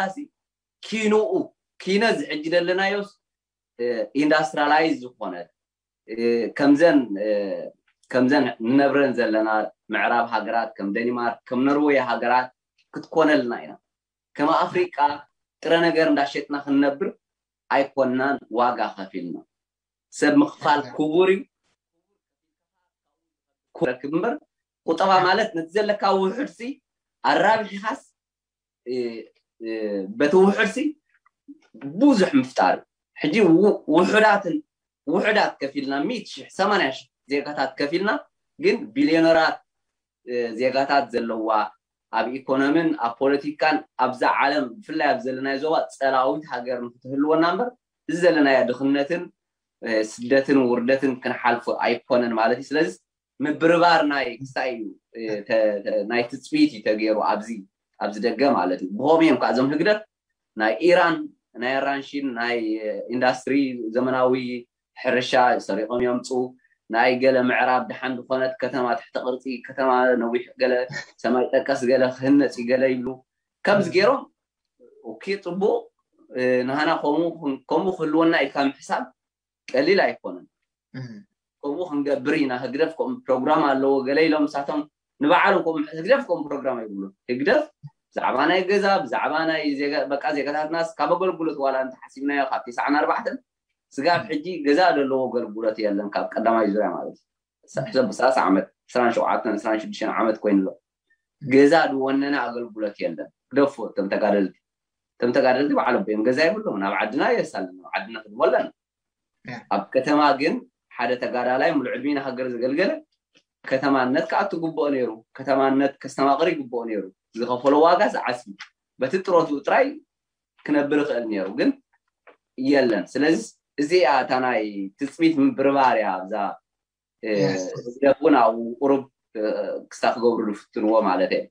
ኪንኡ ኪነ ዝሕጂ ዘለናዮስ ኢንዳስትራላይዝ ዝኾነ ከምዘን ከምዘን ንነብረን ዘለና ምዕራብ ሃገራት ከም ደኒማርክ ከም ኖርወይ ሃገራት ክትኮነልና ኢና ከም ኣፍሪቃ ጥረ ነገር እንዳሸጥና ክንነብር ኣይኮናን ዋጋ ከፊልና ሰብ ምኽፋል ክቡር እዩ ክረክብ እምበር ቁጠባ ማለት ነቲ ዘለካ ውሕድ ሲ ኣራቢሕኻስ በቲ ውሕድ ሲ ብዙሕ ምፍጣር ሕጂ ውሕዳትን ውሕዳት ከፊልና ሚእቲ ሽሕ ሰማንያ ሽሕ ዜጋታት ከፊልና ግን ቢልዮነራት ዜጋታት ዘለዋ ኣብ ኢኮኖምን ኣብ ፖለቲካን ኣብዛ ዓለም ብፍላይ ኣብ ዘለናይ ዞባ ፀላዊት ሃገር ንክትህልወና እምበር እዚ ዘለናዮ ድኽነትን ስደትን ውርደትን ክንሓልፎ ኣይኮነን ማለት እዩ ስለዚ ምብርባር ናይ ክስታይ እዩ ናይ ትፅቢት እዩ ተገይሩ ኣብዚ ኣብዚ ደገ ማለት እዩ ብኸም እዮም ከዓ እዞም ህግደፍ ናይ ኢራን ናይ ኣራንሺን ናይ ኢንዳስትሪ ዘመናዊ ሕርሻ ሰሪቆም የምፅኡ ናይ ገለ ምዕራብ ድሓን ዝኾነት ከተማ ትሕተ ቅርፂ ከተማ ነዊሕ ገለ ሰማይ ጠቀስ ገለ ክህነፅ ገለ ይብሉ ከምዚ ገይሮም ኦኬ ፅቡቅ ንሃና ከምኡ ክህልወና ኢልካ ምሕሳብ ቀሊል ኣይኮነን ከምኡ ክንገብር ኢና ህግደፍ ከምኡ ፕሮግራም ኣለዎ ገለ ኢሎም ንሳቶም ንባዕሎም ከምኡ ህግደፍ ከምኡ ፕሮግራም ኣይብሉን ህግደፍ ብዛዕባ ናይ ገዛ ብዛዕባ ናይ በቃ ዜጋታትናስ ካብ ኣገልግሎት ዋላ እንተሓሲብናዮ ካብ ቲስዓን ኣርባዕተን ስጋብ ሕጂ ገዛ ዘለዎ ኣገልግሎት የለን ካብ ቀዳማይ ዙርያ ማለት እዩ ሕሰብ ሰላሳ ዓመት ዕስራን ሸውዓተን ዕስራን ሽዱሽተን ዓመት ኮይኑ ኣሎ ገዛ ዝወነነ ኣገልግሎት የለን ግደፎ እቶም ተጋደልቲ እቶም ተጋደልቲ ባዕሎም እዮም ገዛ የብሎም ናብ ዓድና የሳልን ናብ ዓድና ክንድሞ ኣለና ኣብ ከተማ ግን ሓደ ተጋዳላይ ሙሉእ ዕድሜ ንሃገር ዘገልገለ ከተማነት ክኣቱ ግብኦ ነይሩ ከተማነት ከስተማቕር ይግብኦ ነይሩ ዝኸፈሎ ዋጋ ዝዓስቢ በቲ ጥሮቱ ጥራይ ክነብር ይኽእል ነይሩ ግን የለን ስለዚ እዚኣ እታ ናይ ትፅቢት ምብርባር እያ ኣብዛ ህግደፍ እውን ኣብኡ ቁሩብ ክስታ ክገብሩ ዝፍትንዎ ማለት እየ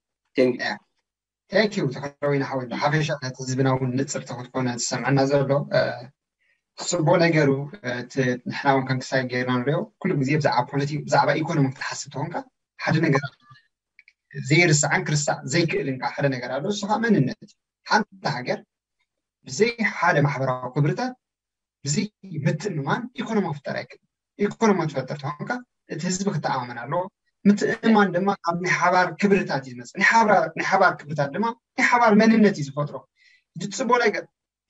ቴንክ ዩ ተኸረዊና ሓወይ ሓፈሻ ነቲ ህዝብና እውን ንፅርቲ ክትኮነ ዝሰምዐና ዘሎ ፅቡቅ ነገሩ ንሕና እውን ከም ክሳይ ገይርና ንሪኦ ኩሉ ግዜ ብዛዕባ ፖለቲክ ብዛዕባ ኢኮኖሚ ክትሓስብ ተኾንካ ሓደ ነገር ዘይርስዓን ክርስዕ ዘይክእልን ከዓ ሓደ ነገር ኣሎ እሱ ከዓ መንነት እዩ ሓንቲ ሃገር ብዘይ ሓደ ማሕበራዊ ክብርታት ብዘይ ምትእምማን ኢኮኖሚ ክፍጠር ኣይክእል ኢኮኖሚ ትፈጥር ተኾንካ እቲ ህዝቢ ክተኣማመን ኣለዎ ምትእምማን ድማ ካብ ናይ ሓባር ክብርታት እዩ ዝመፅእ ናይ ሓባር ክብርታት ድማ ናይ ሓባር መንነት እዩ ዝፈጥሮ እቲ ፅቡቅ ነገር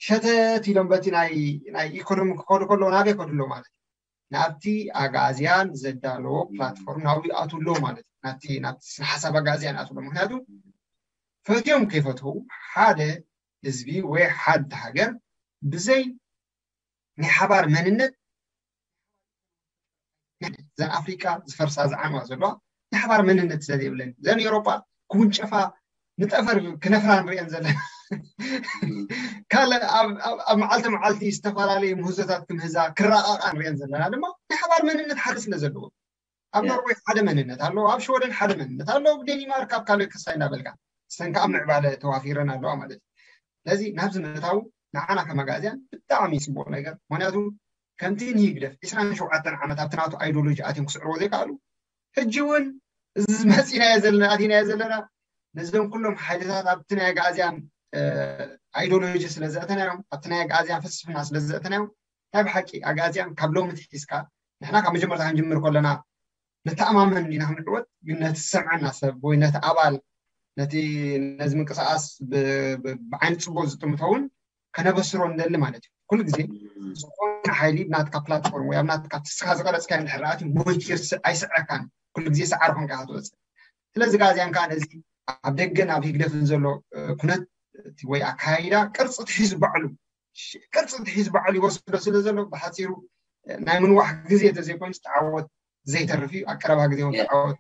ሸተት ኢሎም በቲ ናይ ኢኮኖሚ ክኸዱ ከለዎ ናበይ ከዱ ኣለዎ ማለት እዩ ናብቲ ኣጋዝያን ዘዳለዎ ፕላትፎርም ናብኡ ይኣትዉ ኣለዎ ማለት እዩ ናብቲ ናብቲ ስነ ሓሳብ ኣጋዝያን ይኣትዉ ኣለዎ ምክንያቱ ፈትዮም ከይፈትዉ ሓደ ህዝቢ ወይ ሓንቲ ሃገር ብዘይ ናይ ሓባር መንነት ዘን ኣፍሪቃ ዝፈርሳ ዝዓንዋ ዘለዋ ናይ ሓባር መንነት ስለዘይብለን ዘን ኤሮጳ ክውንጨፋ ንጠፈር ክነፍራ ንሪአን ዘለና ካልእ ኣብ መዓልቲ መዓልቲ ዝተፈላለዩ ምህዞታት ክምህዛ ክረቃቃ ንሪአን ዘለና ድማ ናይ ሓባር መንነት ሓደ ስለ ዘለዎ ኣብ ኖርወይ ሓደ መንነት ኣለዎ ኣብ ሽወደን ሓደ መንነት ኣለዎ ኣብ ዴኒማርክ ኣብ ካልእ ክሳይ እናበልካ እስተን ከዓ ምዕባለ ተዋፊረን ኣለዋ ማለት እዩ ስለዚ ናብዚ ምእታው ንዓና ከመጋእዝያን ብጣዕሚ ፅቡቅ ነገር ምክንያቱ ከምቲ ንህግደፍ ዕስራን ሸውዓተን ዓመት ኣብቲ ናቱ ኣይዲዮሎጂ ኣትዮም ክስዕርዎ ዘይከኣሉ ሕጂ እውን እዚ መፂናዮ ዘለና ኣቲናዮ ዘለና ነዞም ኩሎም ሓይልታት ኣብቲ ናይ ኣጋእዝያን ኣይዲዮሎጂ ስለ ዘእተናዮም፣ ኣብቲ ናይ ኣግኣዝያን ፍልስፍና ስለ ዘእተናዮም፣ ናይ ብሓቂ ኣግኣዝያን ካብ ሎሚ ትሒዝካ ንሕና ካብ መጀመርታ ክንጅምር ከለና ንተኣማመን ዲና ክንዕወት፣ ግን ነቲ ዝሰምዐና ሰብ ወይ ነቲ ኣባል፣ ነቲ ነዚ ምንቅስቃስ ብ- ብ- ብዓይኒ ፅቡቅ ዝጥምቶ እውን ከነበስሮ ንደሊ ማለት እዩ። ኩሉ ግዜ ዝኾነ ሓይሊ ናትካ ፕላትፎርም ወይ ኣብ ናትካ ትስካ ዝቀረፅካዮ እንድሕር ኣትዩ ሞይቱ ይርስዕ ኣይስዕረካን። ኩሉ ግዜ ሰዓሪ ኮንካ ኢኻ ትወፅእ። ስለዚ ጋዜያን ከዓ ነዚ ኣብ ደገን ኣብ ህግደፍን ዘሎ ኩነት ወይ ኣካይዳ ቅርፂ ትሒዙ ባዕሉ ቅርፂ ትሒዝ ባዕሉ ይወስዶ ስለ ዘሎ ብሓፂሩ ናይ ምንዋሕ ግዜ ተዘይኮይኑ ተዓወት ዘይተርፍ እዩ። ኣብ ቀረባ ግዜ እውን ተዓወት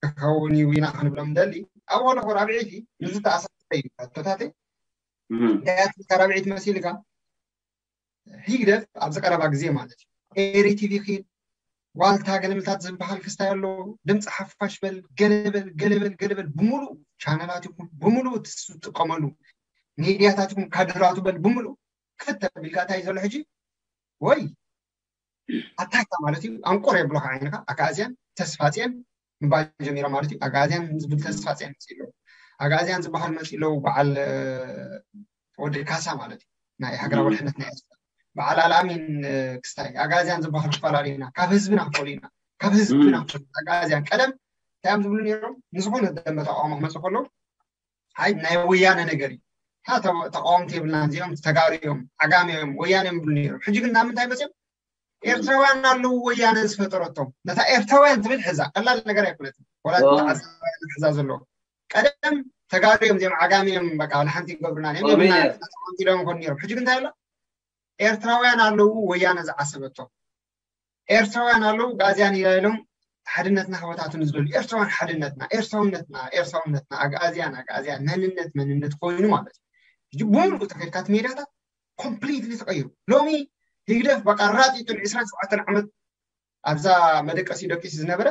ክኸውን እዩ ኢና ክንብሎም ንደሊ። ኣብ ወለኹ ራብዒቲ ንዚ ተኣሳሰረ እዩ ሕቶታተይ እንታይ ኣትልካ ራብዒቲ መሲልካ ህግደፍ ኣብዚ ቀረባ ግዜ ማለት እዩ ኤሪ ቲቪ ኪድ ዋልታ ገለመልታት ዝበሃል ክስታይ ኣሎ። ድምፂ ሓፋሽ በል ገለበል ገለበል ገለበል ብምሉእ ቻነላት ይኹን ብምሉእ ትጥቀመሉ ሚድያታት ይኹን ካድራቱ በል ብምሉእ ክፍት ኣቢልካ እንታይ ዘሎ ሕጂ ወይ ኣታካ ማለት እዩ ኣንቆር የብሎካ ዓይንካ ኣጋእዝያን ተስፋፅየን ምባል ጀሚሮም ማለት እዩ። ኣጋእዝያን ዝብል ተስፋፅየን መፅእ ኣለዉ ኣጋእዝያን ዝበሃል መፅእ ኣለዉ በዓል ወዲ ካሳ ማለት እዩ ናይ ሃገራዊ ድሕነት ናይ ኤርትራ በዓል ኣልኣሚን ክስታይ ኣጋእዝያን ዝበሃል ክፈላለዩና ካብ ህዝብና ክፈሉና ካብ ህዝብና ክፈሉ ኣጋእዝያን ቀደም እንታይ እዮም ዝብሉ ነይሮም ንዝኾነ ደንበ ተቃውሞ ክመፅእ ከለዉ ኣይ ናይ ወያነ ነገር እዩ። ተቃወምቲ የብልና እዚኦም ተጋሩ እዮም ዓጋመ እዮም ወያነ እዮም ይብሉ ነይሮም። ሕጂ ግን ናብ ምንታይ መፅኦም? ኤርትራውያን ኣለዉ ወያነ ዝፈጠረቶም። ነታ ኤርትራውያን ትብል ሕዛ ቀላል ነገር ኣይኮነትን። ወላ ተዓዛውያን ሕዛ ዘለዉ ቀደም ተጋሩ እዮም እዚኦም ዓጋመ እዮም በቃ ንሓንቲ ይገብሩና እዮም ይብሉና ተቃወምቲ ኢሎም ይኾኑ ነይሮም። ሕጂ ግን እንታይ ኣሎ? ኤርትራውያን ኣለዉ ወያነ ዝዓሰበቶም። ኤርትራውያን ኣለዉ ኣግኣዝያን ኢላ ኢሎም ሓድነትና ክበታትኑ ዝደልዩ ኤርትራውያን ሓድነትና ኤርትራውነትና ኤርትራውነትና ኣግኣዝያን ኣግኣዝያን መንነት መንነት ኮይኑ ማለት እዩ። ሕጂ ብምሉእ ተኸድካ እቲ ሜዳታት ኮምፕሊትሊ ተቐይሩ። ሎሚ ህግደፍ በቃ ራጢጡ ን27 ዓመት ኣብዛ መደቀሲ ደቂሱ ዝነበረ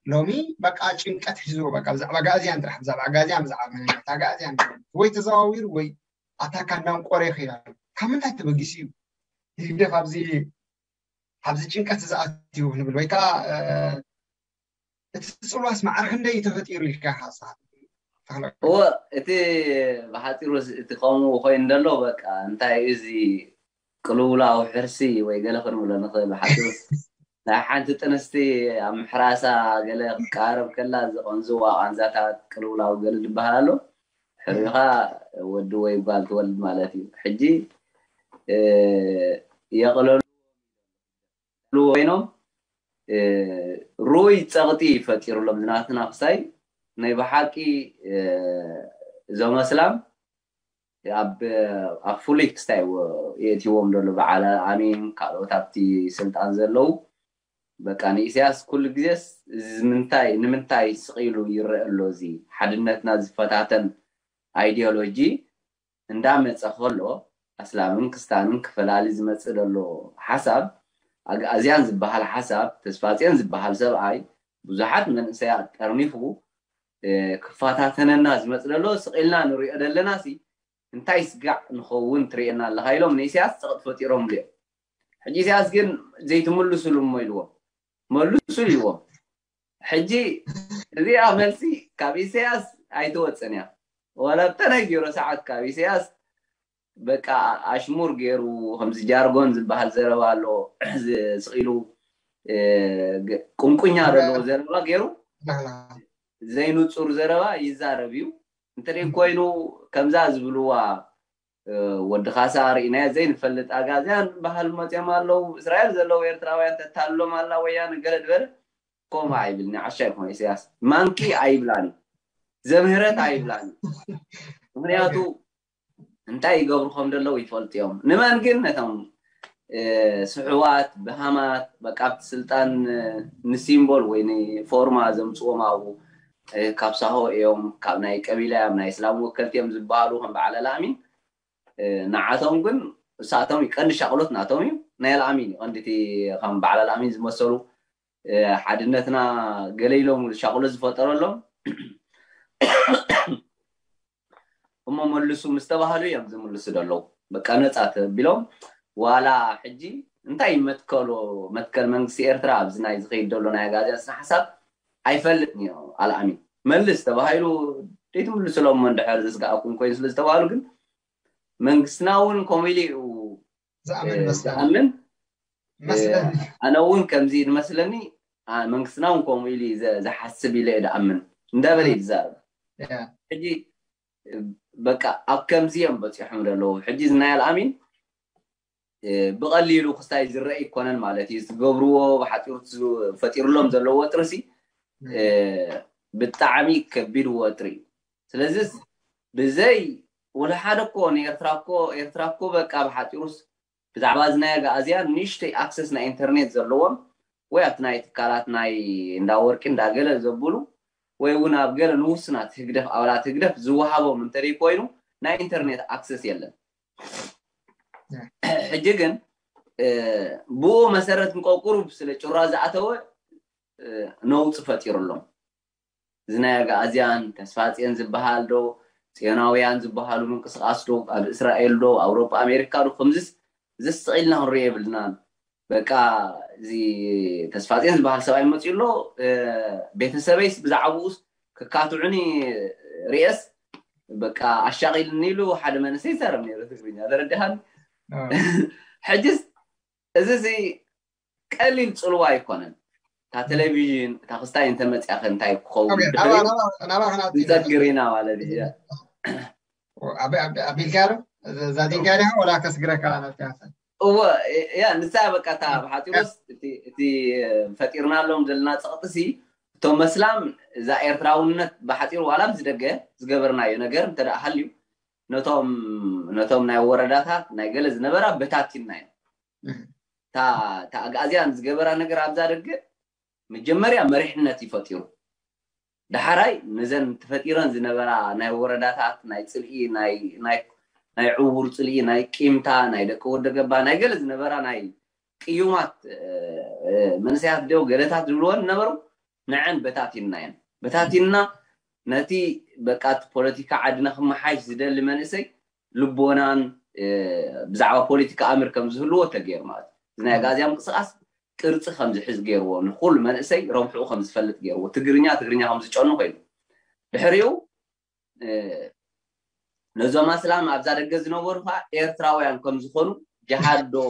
ሎሚ በቃ ጭንቀት ሒዝዎ በቃ ብዛዕባ ኣግኣዝያን ጥራሕ ብዛዕባ ኣግኣዝያን ብዛዕባ መንነት ኣግኣዝያን ወይ ተዘዋዊሩ ወይ ኣታካ እንዳንቆረ ይኸይድ ኣሎ። ካብ ምንታይ ተበጊሱ እዩ ህግደፍ ኣብዚ ኣብዚ ጭንቀት ዝኣትዩ ንብል ወይ ከዓ እቲ ፅልዋስ ማዕረ ክንደይ ተፈጢሩ ኢልካ ኢኻ ንስኻ ትብሎ? እወ እቲ ብሓፂሩ እቲ ከምኡ ኮይኑ ዘሎ በቃ እንታይ እዩ እዚ ቅልውላው ሕርሲ ወይ ገለ ክንብሎ ንኽእል ብሓፂሩስ ናይ ሓንቲ ጥንስቲ ኣብ ምሕራሳ ገለ ክትቃረብ ከላ ዝቐንዝዋ ቃንዛታት ቅልውላው ገለ ዝበሃል ኣሎ ሕሪኻ ወዲ ወይ ጓል ትወልድ ማለት እዩ ሕጂ የቕለሉ ኮይኖም ሩይ ፀቕጢ ፈጢሩሎም ዝናትና ክሳይ ናይ ብሓቂ እዞም ኣስላም ኣብ ኣብ ፍሉይ ክስታይ የእትዎም ዘሎ በዓል ኣሚን ካልኦት ኣብቲ ስልጣን ዘለዉ በቃ ንኢሳያስ ኩሉ ግዜስ እዚ ምንታይ ንምንታይ ስቕ ኢሉ ይረአ ኣሎ እዚ ሓድነትና ዝፈታተን ኣይዲዮሎጂ እንዳመፀ ከሎ ኣስላምን ክስታንን ክፈላሊ ዝመፅእ ዘሎ ሓሳብ ኣግኣዝያን ዝበሃል ሓሳብ ተስፋፅዮን ዝበሃል ሰብኣይ ብዙሓት መንእሰያት ጠርኒፉ ክፈታተነና ዝመፅ ዘሎ ስቕ ኢልና ንሪኦ ዘለና ሲ እንታይ ስጋዕ ንኸውን ትርእየና ኣለኻ ኢሎም ንኢሳያስ ፀቕጢ ፈጢሮምሉ እዮም ሕጂ ኢሳያስ ግን ዘይትምልሱሉ እሞ ኢልዎም መልሱ ኢልዎም ሕጂ እዚኣ መልሲ ካብ ኢሳያስ ኣይትወፅን እያ ዋላ ብተነጊሮ ሰዓት ካብ ኢሳያስ በቃ ኣሽሙር ገይሩ ከምዚ ጃርጎን ዝበሃል ዘረባ ኣሎ ስቕ ኢሉ ቁንቁኛ ዘለዎ ዘረባ ገይሩ ዘይንፁር ዘረባ ይዛረብ እዩ እንተደይ ኮይኑ ከምዛ ዝብልዋ ወዲ ካሳ ርኢናዮ ዘይንፈልጥ ኣጋዝያን በሃል መፅኦም ኣለዉ እስራኤል ዘለዉ ኤርትራውያን ተታልሎም ኣላ ወያነ ገለ ዝበለ ከምኡ ኣይብልኒ ዓሻ ይኮነ ኢሳያስ ማንኪ ኣይብላን እዩ ዘምህረት ኣይብላን እዩ ምክንያቱ እንታይ ይገብሩ ከም ዘለዉ ይፈልጡ እዮም ንመን ግን ነቶም ስሕዋት ብሃማት በቃ ኣብቲ ስልጣን ንሲምቦል ወይ ንፎርማ ዘምፅዎም ኣብኡ ካብ ሳሆ እዮም ካብ ናይ ቀቢላ እዮም ናይ እስላም ወከልቲ እዮም ዝበሃሉ ከም በዓል ኣልኣሚን ንዓቶም ግን እሳቶም ቀንዲ ሻቕሎት ናቶም እዩ ናይ ኣልኣሚን እዩ ቀንዲቲ ከም በዓል ኣልኣሚን ዝመሰሉ ሓድነትና ገለ ኢሎም ሻቕሎት ዝፈጠረሎም እሞ መልሱ ምስ ተባህሉ እዮም ዝምልሱ ዘለዉ በቃ ነፃ ተቢሎም ዋላ ሕጂ እንታይ መትከሎ መትከል መንግስቲ ኤርትራ ኣብዚ ናይ ዝኸይድ ዘሎ ናይ ኣጋዝያ ስነ ሓሳብ ኣይፈልጥን እዮ ኣልኣሚን መልስ ተባሂሉ ዘይትምልስሎም እሞ እንድሕር ዘስጋኣኩም ኮይኑ ስለ ዝተባህሉ ግን መንግስትና እውን ከምኡ ኢሉ እዩ ዝኣምን እ፣ መስለኒ ዝኣምን እ፣ መስለኒ ኣነ እውን ከምዚ እዩ ዝመስለኒ። አ፣ መንግስትና እውን ከምኡ ኢሉ እዩ ዘ- ዝሓስብ ኢለ እየ ዝኣምን እንዳበለ እዩ ዝዛረብ። ያ ሕጂ እ፣ በቃ ኣብ ከምዚ እዮም በፂሖም ዘለዉ። ሕጂ ዝናይ ኣልኣሚን እ፣ ብቐሊሉ ክስታይ ዝረአ ይኮነን ማለት እዩ። ዝገብርዎ ብሓፂሩ ዝፈጢርሎም ዘለዎ ወጥርሲ እ፣ ብጣዕሚ ከቢድ ወጥሪ እዩ። ስለዚ ብዘይ ወላ ሓደ እኮ ንኤርትራ እኮ ኤርትራ እኮ በቃ ብሓፂሩስ ብዛዕባ እዚ ናይ ኣጋኣዝያን ንእሽተይ ኣክሰስ ናይ ኢንተርኔት ዘለዎም ወይ ኣብቲ ናይ ትካላት ናይ እንዳ ወርቂ እንዳገለ ዘብሉ ወይ እውን ኣብ ገለ ንውስናት ህግደፍ ኣባላት ህግደፍ ዝወሃቦም እንተደይ ኮይኑ ናይ ኢንተርኔት ኣክሰስ የለን። ሕጂ ግን እ፣ ብኡ መሰረት እንቆ ቁሩብ ስለ ጭራ ዝኣተወ እ፣ ነውፂ ፈጢሩሎም። እዚ ናይ ኣጋኣዝያን ተስፋፅዮን ዝበሃል ዶ ፅዮናውያን ዝበሃሉ ምንቅስቃስ ዶ ኣብ እስራኤል ዶ ኣውሮጳ ኣሜሪካ ዶ ከምዚስ ዘስቕ ኢልና ክንሪኦ የብልናን። በቃ እዚ ተስፋፅዮን ዝበሃል ሰብኣይ መፂኡ ኣሎ እ፣ ቤተሰበይስ ብዛዕባኡስ ክካትዑኒ ርኤስ በቃ ኣሻቒልኒ ኢሉ ሓደ መንእሰይ ይዛረብ ነይሩ ትግርኛ ተረዲኻኒ። ሕጅስ እዚ እዚ ቀሊል ፅልዋ ኣይኮነን። እታ ቴሌቪዥን እታ ክስታይ እንተመፅያ ከ እንታይ ክኸውን ድሕሪ ናባ ክንኣት ንፀግር ኢና ማለት እዩ። ኣቢልካ ዶ ዛዲንካ ዲኻ ወላ ከስግረካ ናትካ እወ ያ ንሳ በቃ እታ ብሓፂሩስ እቲ እቲ ፈጢርናሎም ዘለና ፀቕጥሲ እቶም መስላም እዛ ኤርትራውነት ብሓፂሩ ዋላ ምስ ደገ ዝገበርናዮ ነገር እንተ ደኣ ሃልዩ ነቶም ነቶም ናይ ወረዳታት ናይ ገለ ዝነበራ በታቲንና እዮም። እታ እታ ኣግኣዝያን ዝገበራ ነገር ኣብዛ ደገ መጀመርያ መሪሕነት ይፈጢሩ። ዳሕራይ ነዘን ተፈጢረን ዝነበራ ናይ ወረዳታት ናይ ፅልኢ ናይ ናይ ናይ ዕውር ፅልኢ ናይ ቂምታ ናይ ደቂ ወደ ገባ ናይ ገለ ዝነበራ ናይ ቅዩማት እ፣ እ፣ መንእሰያት ዶ ገለታት ዝብልወን ነበሩ። ንዐን በታቲንና እየን በታቲንና ነቲ በቃ እቲ ፖለቲካ ዓድና ክመሓይሽ ዝደሊ መንእሰይ ልቦናን እ፣ ብዛዕባ ፖለቲካ ኣምር ከም ዝህልዎ ተገይሩ ማለት እዩ። እዚ ናይ ኣጋዝያ ምንቅስቃስ ቅርፂ ከም ዝሕዝ ገይርዎ ንኩሉ መንእሰይ ረብሕኡ ከም ዝፈልጥ ገይርዎ ትግርኛ ትግርኛ ከም ዝጨኑ ኮይኑ ድሕሪኡ እ፣ ነዞም ኣስላም ኣብዛ ደገ ዝነበሩ ከዓ ኤርትራውያን ከም ዝኾኑ ጅሃድ ዶ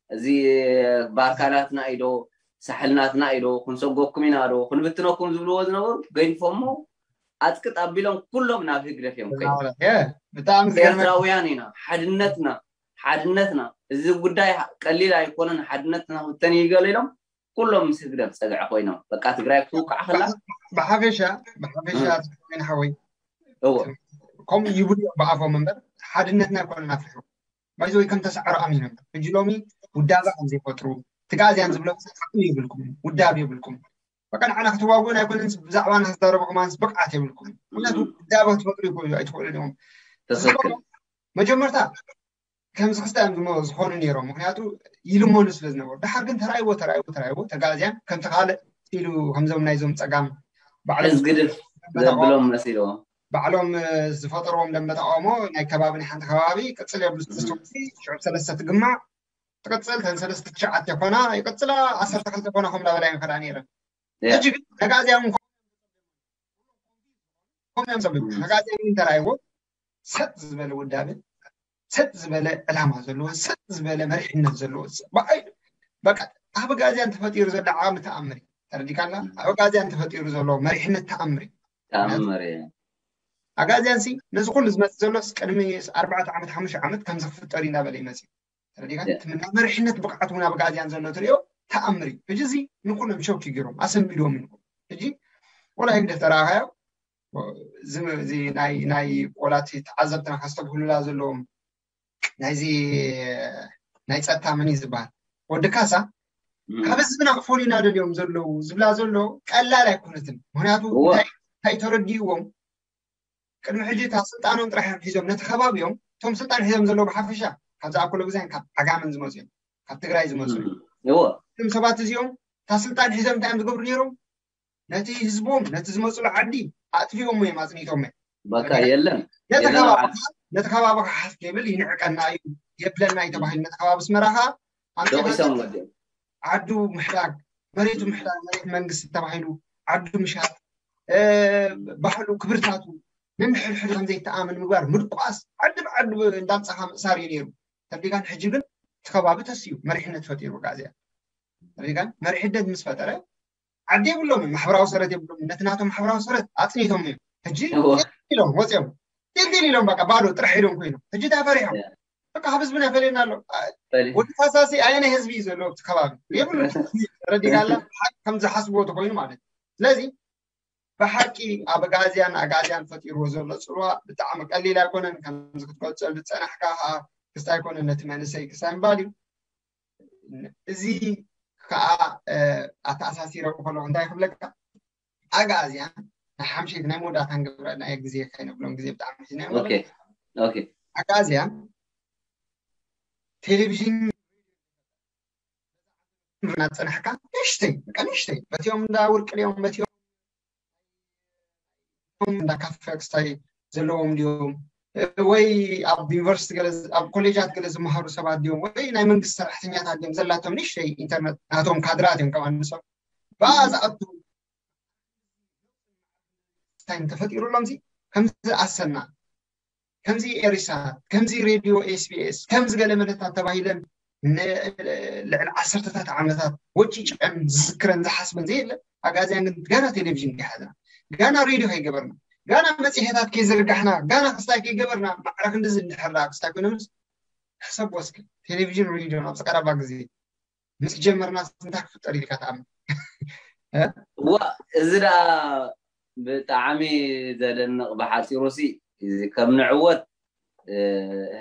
እዚ ባርካናትና ኢዶ ሳሕልናትና ኢዶ ክንሰጎኩም ኢና ዶ ክንብትነኩም ዝብልዎ ዝነበሩ ገዲፎሞ ኣፅቅጥ ኣቢሎም ኩሎም ናብ ህግደፍ እዮም ከይዶም። ብጣዕሚ ዝገርመ ኤርትራውያን ኢና ሓድነትና ሓድነትና እዚ ጉዳይ ቀሊል ኣይኮነን ሓድነትና ክብተን እዩ ገለ ኢሎም ኩሎም ምስ ህግደፍ ፀግዒ ኮይኖም በቃ ትግራይ ክትውቃዕ ከላ ብሓፈሻ ብሓፈሻ ን ሓወይ እዎ ከምኡ ይብሉ እዮም ብኣፎም እምበር ሓድነትና ኣይኮነን ኣፍርሑ ባይዘ ወይ ከም ተሰዕሮ ኣሚኖም ሕጂ ሎሚ ውዳበ ከም ዘይፈጥሩ ትጋዝያን ዝብሎ ዓቕሚ የብልኩም ውዳብ የብልኩም በቃ ንዓና ክትዋግኡን ኣይኮነን ብዛዕባና ክዛረቡ ከማንስ ብቕዓት የብልኩም ምክንያቱ ውዳበ ክትፈጥሩ ይኽእሉ ኣይትኽእሉን ኢኹም ትኽክል መጀመርታ ከምዚ ክስተ እዮም ዝሞ- ዝኾኑ ነይሮም ምክንያቱ ይልመኑ ስለ ዝነበሩ ድሓር ግን ተራይዎ ተራይዎ ተራይዎ ተጋዝያን ከምቲ ካልእ ኢሉ ከምዞም ናይዞም ፀጋም ባዕሎም ሕዝ ግድፍ ዘብሎም መሲልዎ ባዕሎም እ፣ ዝፈጠርዎም ደንበ ተቃውሞ ናይ ከባቢ ናይ ሓንቲ ከባቢ ቅፅል የብሉ እም። ሽዑብ ሰለስተ ትግማዕ ትቅፅል ተን ሰለስተ ትሽዓተ ኮና ይቅፅላ ዓሰርተ ክልተ ኮና ከም ላበላ ይንከዳ ነይረን ያ። ሕጂ ግን ተጋዝያ እውን ኮም እዮም ዘብሉ እም። ተጋዝያ እውን ተራይዎ ሰጥ ዝበለ ውዳበ ሰጥ ዝበለ ዕላማ ዘለዎ ሰጥ ዝበለ መሪሕነት ዘለዎ በቃ ኣብ ጋዝያን ተፈጢሩ ዘሎ ዓቕሚ ተኣምር እዩ ተረዲካና ኣብ ጋዝያን ተፈጢሩ ዘሎ መሪሕነት ተኣምር እዩ ተኣምር እዩ ኣጋዝያን ሲ ነዚ ኩሉ ዝመፅእ ዘሎስ ቅድሚ ኣርባዕተ ዓመት ሓሙሽተ ዓመት ከምዚ ክፍጠር እዩ እናበለ ይመፅእ ተረዲካ ያ። ትምና መሪሕነት ብቕዓት እውን ኣብ ጋዝያን ዘሎ ትሪኦ ተኣምር እዩ ሕጂ እዚ ንኩሎም ሾክ ይገይሮም ኣሰንቢድዎም እዩ ሕጂ ወላ ህግደፍ ተረኣኻዮ እዚ እዚ ናይ ናይ ቆላት ተዓዘብትና ከስተብህሉላ ዘለዎም ናይዚ ናይ ፀጥታ መን እዩ ዝበሃል ወዲ ካሳ እም። ካብ ህዝብና ክፈልዩና ደልዮም ዘለዉ ዝብላ ዘሎ ቀላል ኣይኮነትን ምክንያቱ እወ። እንታይ እንታይ ተረዲእዎም ቅድሚ ሕጂ እታ ስልጣኖም ጥራሕ እዮም ሒዞም ነቲ ከባቢኦም እቶም ስልጣን ሒዞም ዘለዉ ብሓፈሻ ካብዚ ኣኮሎ ግዛን ካብ ዓጋመን ዝመፁ እዮም ካብ ትግራይ ዝመፁ እዮም እወ እቶም ሰባት እዚኦም እታ ስልጣን ሒዞም እንታይ እዮም ዝገብሩ ነይሮም ነቲ ህዝቦም ነቲ ዝመፁሉ ዓዲ ኣጥፊኦሞ እዮም ኣፅኒቶም እዮም በቃ የለን ነቲ የለን ከባቢ ዓዲ ነቲ ከባቢ ክሓፍ የብል ይንዕቀና እዩ የብለና እዩ ተባሂሉ ነቲ ከባቢ ኣስመራ ከዓ ኣምፂኻ ደቂሶም ወዲኦም ዓዱ ምሕዳግ መሬቱ ምሕዳግ መሬት መንግስቲ ተባሂሉ ዓዱ ምሻጥ እ፣ ባህሉ ክብርታቱ ንምሕድሕድ ከም ዘይተኣምን ምግባር፣ ምድቋስ፣ ዓዲ ብዓዲ እንዳምጻኻ ምእሳር እዩ ነይሩ። ተሪጋን ሕጂ ግን እቲ ከባቢ ተስዩ መሪሕነት ፈጢሩ ኣጋዝያን። ተሪጋን መሪሕነት ምስ ፈጠረ ዓዲ የብሎምን፣ ማሕበራዊ ሰረት የብሎምን። ነቲ ናቶም ማሕበራዊ ሰረት ኣጽኒቶም እዮም። ሕጂ ኢሎም ወጽዮም፣ ጢልጢል ኢሎም፣ በቃ ባዶ ጥራሕ ኢሎም ኮይኖም። ሕጂ እንታይ ፈሪሖም? በቃ ካብ ህዝብና ፈለየና ኣሎ። ወዲ ፋሳሲ ኣየናይ ህዝቢ እዩ ዘለዎ ኣብቲ ከባቢ? የብሉ። ረዲጋላ ሓቅ ከም ዝሓስብዎ ተኮይኑ ማለት እዩ። ስለዚ ብሓቂ ኣብ ኣጋዝያን ኣጋዝያን ፈጢርዎ ዘሎ ጽልዋ ብጣዕሚ ቀሊል ኣይኮነን። ከምዚ ክትገልጸሉ ዝጸናሕካ ከዓ ክስታይ ኣይኮነን፣ ነቲ መንእሰይ ክስታይ ምባል እዩ። እዚ ከዓ ኣተኣሳሲረ ከለኹ እንታይ ክብለካ፣ ኣጋዝያን ናይ ሓምሸይቲ ናይ መወዳእታን ግብረ ናይ ግዜ ከይነብሎም፣ ግዜ ብጣዕሚ ሒዝና ኦኬ ኦኬ ኣጋዝያን ቴሌቪዥን እናፀናሕካ ንእሽተይ፣ በቃ ንእሽተይ፣ በቲኦም እንዳ ውርቂ ድዮም፣ በቲኦም እንዳ ካፈ ክስታይ ዘለዎም ድዮም፣ ወይ ኣብ ዩኒቨርሲቲ ገለ፣ ኣብ ኮሌጃት ገለ ዝመሃሩ ሰባት ድዮም፣ ወይ ናይ መንግስቲ ሰራሕተኛታት ድዮም፣ ዘላቶም ንእሽተይ ኢንተርነት ናቶም ካድራት እዮም። ከማን ንሶም ብኣ ዝኣቱ ታይም ተፈጢሩሎም ዚ ከምዚ ኣሰና፣ ከምዚ ኤሪሳት፣ ከምዚ ሬድዮ ኤስቢኤስ፣ ከምዚ ገለ መለታት ተባሂለን ን-፣ ልዕሊ ዓሰርተታት ዓመታት ወጪጨን ዝዝክረን ዝሓስበን ዘየለ። ኣጋዝያን ግን ጋና ቴሌቪዥን ከይሓዝና፣ ጋና ሬድዮ ከይገበርና፣ ጋና መፅሄታት ከይዘርጋሕና፣ ጋና ክስታይ ከይገበርና፣ ማዕረ ክንድዚ እንድሕር ደኣ ክስታይ ኮይኖምስ ሕሰብ ወስኪ። ቴሌቪዥን ሬድዮ ኣብዚ ቀረባ ግዜ ምስ ጀመርና እንታይ ክፍጠር ኢልካ ትኣምን? ዋ፣ እዚ ደኣ ብጣዕሚ ዘደንቕ። ብሓፂሩ ሲ እዚ ከም ንዕወት፣ እ፣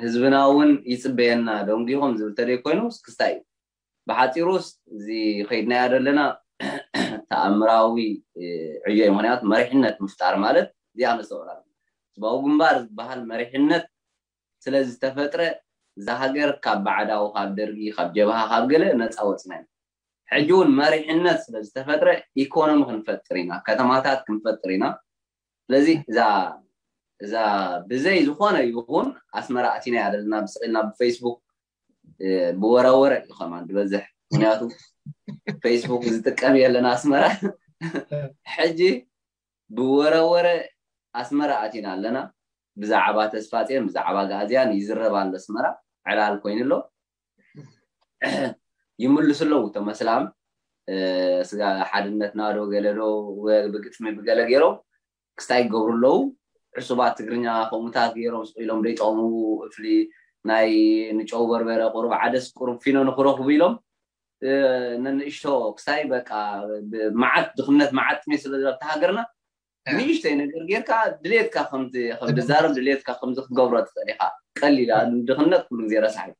ህዝብና እውን ይፅበየና ደንጊኹም ዝብል ተደይ ኮይኑ ክስታይ እዩ። ብሓፂሩስ እዚ ከይድናያ ዘለና ተኣምራዊ፣ እ፣ ዕዮ እዩ። ምክንያቱ መሪሕነት ምፍጣር ማለት እዚኣ ነስተውዕላ። ህዝባዊ ግንባር ዝበሃል መሪሕነት ስለ ዝተፈጥረ እዛ ሃገር ካብ ባዕዳዊ፣ ካብ ደርጊ፣ ካብ ጀብሃ፣ ካብ ገለ ነፃ ወፅና ኢና። ሕጂ እውን መሪሕነት ስለ ዝተፈጥረ ኢኮኖሚ ክንፈጥር ኢና፣ ከተማታት ክንፈጥር ኢና። ስለዚ እዛ እዛ ብዘይ ዝኾነ ይኹን ኣስመራ ኣቲና እያ ዘለና ብስቕ ኢልና ብፌስቡክ፣ እ፣ ብወረወረ እዩ ከማን ዝበዝሕ። ምክንያቱ ፌስቡክ ዝጥቀም የለን ኣስመራ። ሕጂ ብወረወረ ኣስመራ ኣቲና ኣለና። ብዛዕባ ተስፋፅዮን ብዛዕባ ጋእዝያን ይዝረብ ኣሎ ኣስመራ፣ ዕላል ኮይኑ ኣሎ። ይምልሱ ኣለዉ እቶም ኣስላም፣ እ፣ ስጋ ሓድነትና ዶ ገለ ዶ ወ-፣ ብግጥሚ ብገለ ገይሮም ክስታይ ይገብሩ ኣለዉ። ዕሱባት ትግርኛ ከምኡታት ገይሮም ስቕ ኢሎም ደይጠቕሙ፣ እፍሊ ናይ ንጨው በርበረ ቁሩብ ዓደስ ቁሩብ ፊኖ ንክረኽቡ ኢሎም፣ እ፣ ነንእሽቶ ክስታይ በቃ ብ-፣ መዓት ድኽነት መዓት ጥሜት ስለ ዘሎ ኣብታ ሃገርና ንእሽተይ ነገር ጌርካ ድሌትካ ከምዚ ከም ድዛረብ ድሌትካ ከምዚ ክትገብሮ ትኽእል ኢኻ። ቀሊል እያ። ድኽነት ኩሉ ግዜ ረሳሕ እዩ።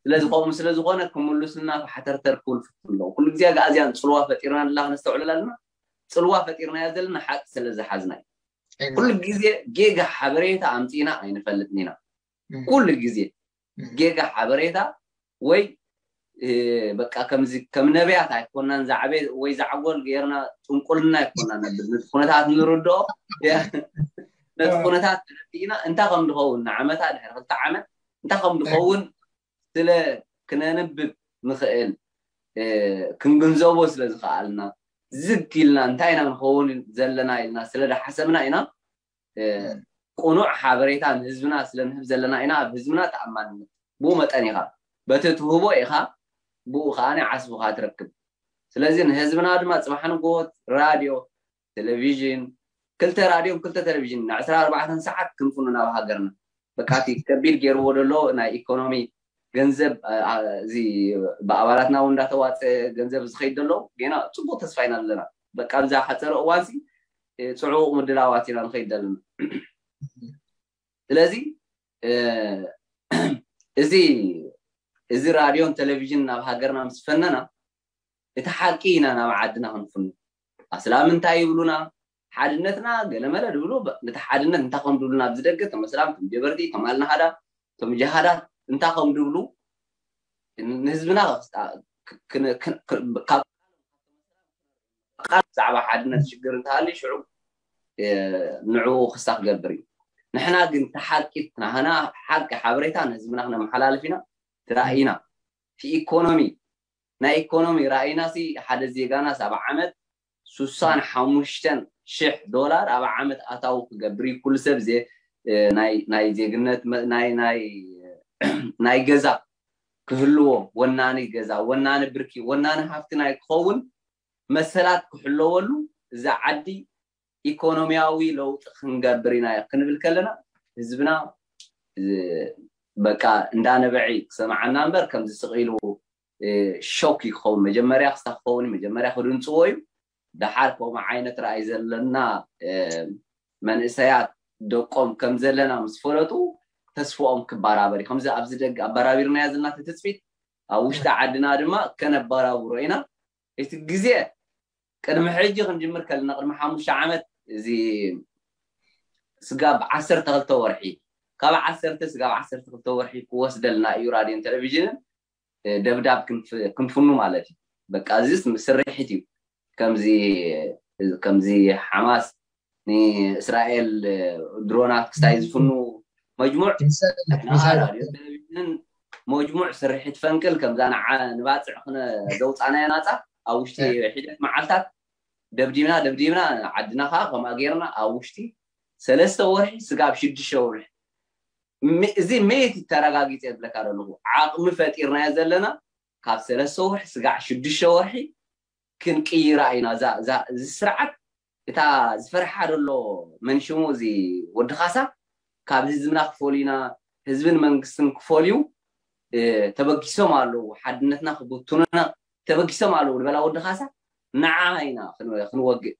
ስለዚ ከምኡ ስለ ዝኾነ ክምልሱልና ፋሕተርተር ክብሉ ፍትን ኣለዉ። ኩሉ ግዜ ኣጋእዝያን ጽልዋ ፈጢርና ንላ ክነስተውዕለላ ኣለና። ጽልዋ ፈጢርናዮ ዘለና ሓቂ ስለ ዝሓዝና እዩ። ኩሉ ግዜ ጌጋ ሓበሬታ ኣምጺእና ኣይንፈልጥን ኢና። ኩሉ ግዜ ጌጋ ሓበሬታ ወይ፣ እ፣ በቃ ከምዚ ከም ነቢያት ኣይኮናን፣ ዛዕበ ወይ ዛዕጎል ጌርና ጥንቁልና ኣይኮናን ነብል። ነቲ ኩነታት ንርድኦ፣ ነቲ ኩነታት ተረዲእና እንታይ ከም ዝኸውን ንዓመታ ድሕሪ ክልተ ዓመት እንታይ ከም ዝኸውን ስለ ክነንብብ ንኽእል፣ እ፣ ክንግንዘቦ ስለ ዝኸኣልና ዝግ ኢልና እንታይ ኢና ንኸውን ዘለና ኢልና ስለ ዝሓሰብና ኢና፣ እ፣ ቁኑዕ ሓበሬታ ንህዝብና ስለ ንህብ ዘለና ኢና ኣብ ህዝብና ተኣማንነት። ብኡ መጠን ኢኻ በቲ ትህቦ ኢኻ ብኡ ከኣ ዓስብኻ ትረክብ። ስለዚ ንህዝብና ድማ ጽባሕ ንግሆ ራድዮ፣ ቴሌቪዥን፣ ክልተ ራድዮን ክልተ ቴሌቪዥን ንዕስራ ኣርባዕተን ሰዓት ክንፍኑ ናብ ሃገርና። በቃ እቲ ከቢድ ገይርዎ ዘሎ ናይ ኢኮኖሚ ገንዘብ፣ እ፣ እ፣ እዚ ብኣባላትና እውን እንዳተዋፀ ገንዘብ ዝኸይድ ዘሎ ገና ፅቡቅ ተስፋ ኢና ዘለና። በቃ ኣብዛ ሓፀረ እዋንሲ፣ እ፣ ፅዑቅ ምድላዋት ኢና ንኸይድ ዘለና። ስለዚ፣ እ፣ እዚ፣ እዚ ራድዮን ቴሌቪዥን ናብ ሃገርና ምስ ፈነና፣ እቲ ሓቂ ኢና ናብ ዓድና ክንፍኑ። ኣስላም እንታይ ይብሉና? ሓድነትና ገለመለ ድብሉ፣ በ-፣ ነቲ ሓድነት እንታይ ከም ድብሉና ኣብዚ ደገ፣ እቶም ኣስላም፣ እቶም ጀበርቲ፣ እቶም ኣልናሃዳ፣ እቶም ጀሃዳት እንታይ ከም ድብሉ ንህዝብና ክ-፣ ክ-፣ ክ-፣ ካብ ቃል ብዛዕባ ሓድነት ሽግር እንተሃልዩ ሽዑ፣ እ፣ ንዕኡ ክሳ ክገብር እዩ። ንሕና ግን እቲ ሓቂ፣ ናህና ሓቂ ሓበሬታ ንህዝብና ክነመሓላልፍ ኢና። እቲ ራእይና፣ እቲ ኢኮኖሚ፣ ናይ ኢኮኖሚ ራእይና ሲ ሓደ ዜጋና ሰብዓ ዓመት ሱሳን ሓሙሽተን ሽሕ ዶላር ኣብ ዓመት ኣታዊ ክገብር እዩ። ኩሉ ሰብ ናይ ዜግነት ናይ ገዛ ክህልዎ፣ ወናኒ ገዛ፣ ወናኒ ብርኪ፣ ወናኒ ሃፍቲ ናይ ክኸውን መሰላት ክሕለወሉ፣ እዛ ዓዲ ኢኮኖሚያዊ ለውጢ ክንገብር ኢና ክንብል ከለና፣ ህዝብና በቃ እንዳነበዐ ክሰምዓና እምበር ከምዚ ስቕ ኢሉ ሾክ ይኸውን። መጀመርያ ክስታ ክኸውን መጀመርያ ክድንፅዎ እዩ። ደሓር ከምኡ ዓይነት ራእይ ዘለና መንእሰያት ደቆም ከም ዘለና ምስ ፈለጡ ተስፍኦም ክባራበር እዩ። ከምዚ ኣብዚ ደገ ኣባራቢርናያ ዘለና ትፅቢት ኣብ ውሽጢ ዓድና ድማ ከነባራብሮ ኢና። እቲ ግዜ ቅድሚ ሕጂ ክንጅምር ከለና ቅድሚ ሓሙሽተ ዓመት እዚ ስጋብ ዓሰርተ ክልተ ወርሒ ካብ ዓሰርተ ስጋብ ዓሰርተ ክልተ ወርሒ ክወስደልና እዩ ራድዮን ቴሌቪዥንን ደብዳብ ክንፍኑ ማለት እዩ። በቃ እዚስ ስርሒት እዩ። ከምዚ ከምዚ ሓማስ ንእስራኤል ድሮናት ክስታይ ዝፍኑ መጅሙዕ ራድዮ ቴሌቪዥንን መጅሙዕ ስርሒት ፈንቅል ከምዛ ንባፅዕ ክነ ዘውፃናዮ ናፃ ኣብ ውሽጢ ሒደት መዓልታት ደብዲብና ደብዲብና ዓድና ከዓ ከምኣ ገይርና ኣብ ውሽጢ ሰለስተ ወርሒ ስጋብ ሽዱሽተ ወርሒ እዚ መየት ተረጋጊፀ የብለካ ዘለኹ ዓቕሚ ፈጢርናዮ ዘለና ካብ ሰለስተ ወርሒ ስጋዕ ሽዱሽተ ወርሒ ክንቅይራ ኢና። እዚ ስርዓት እታ ዝፈርሓ ዘሎ መንሽሙ እዚ ወዲ ካሳ ካብ ህዝብና ክፈልዩና ህዝብን መንግስትን ክፈልዩ ተበጊሶም ኣለዉ። ሓድነትና ክብትኑና ተበጊሶም ኣለዉ ዝበላ ወዲ ካሳ ንዓ ኢና ክንወግእ።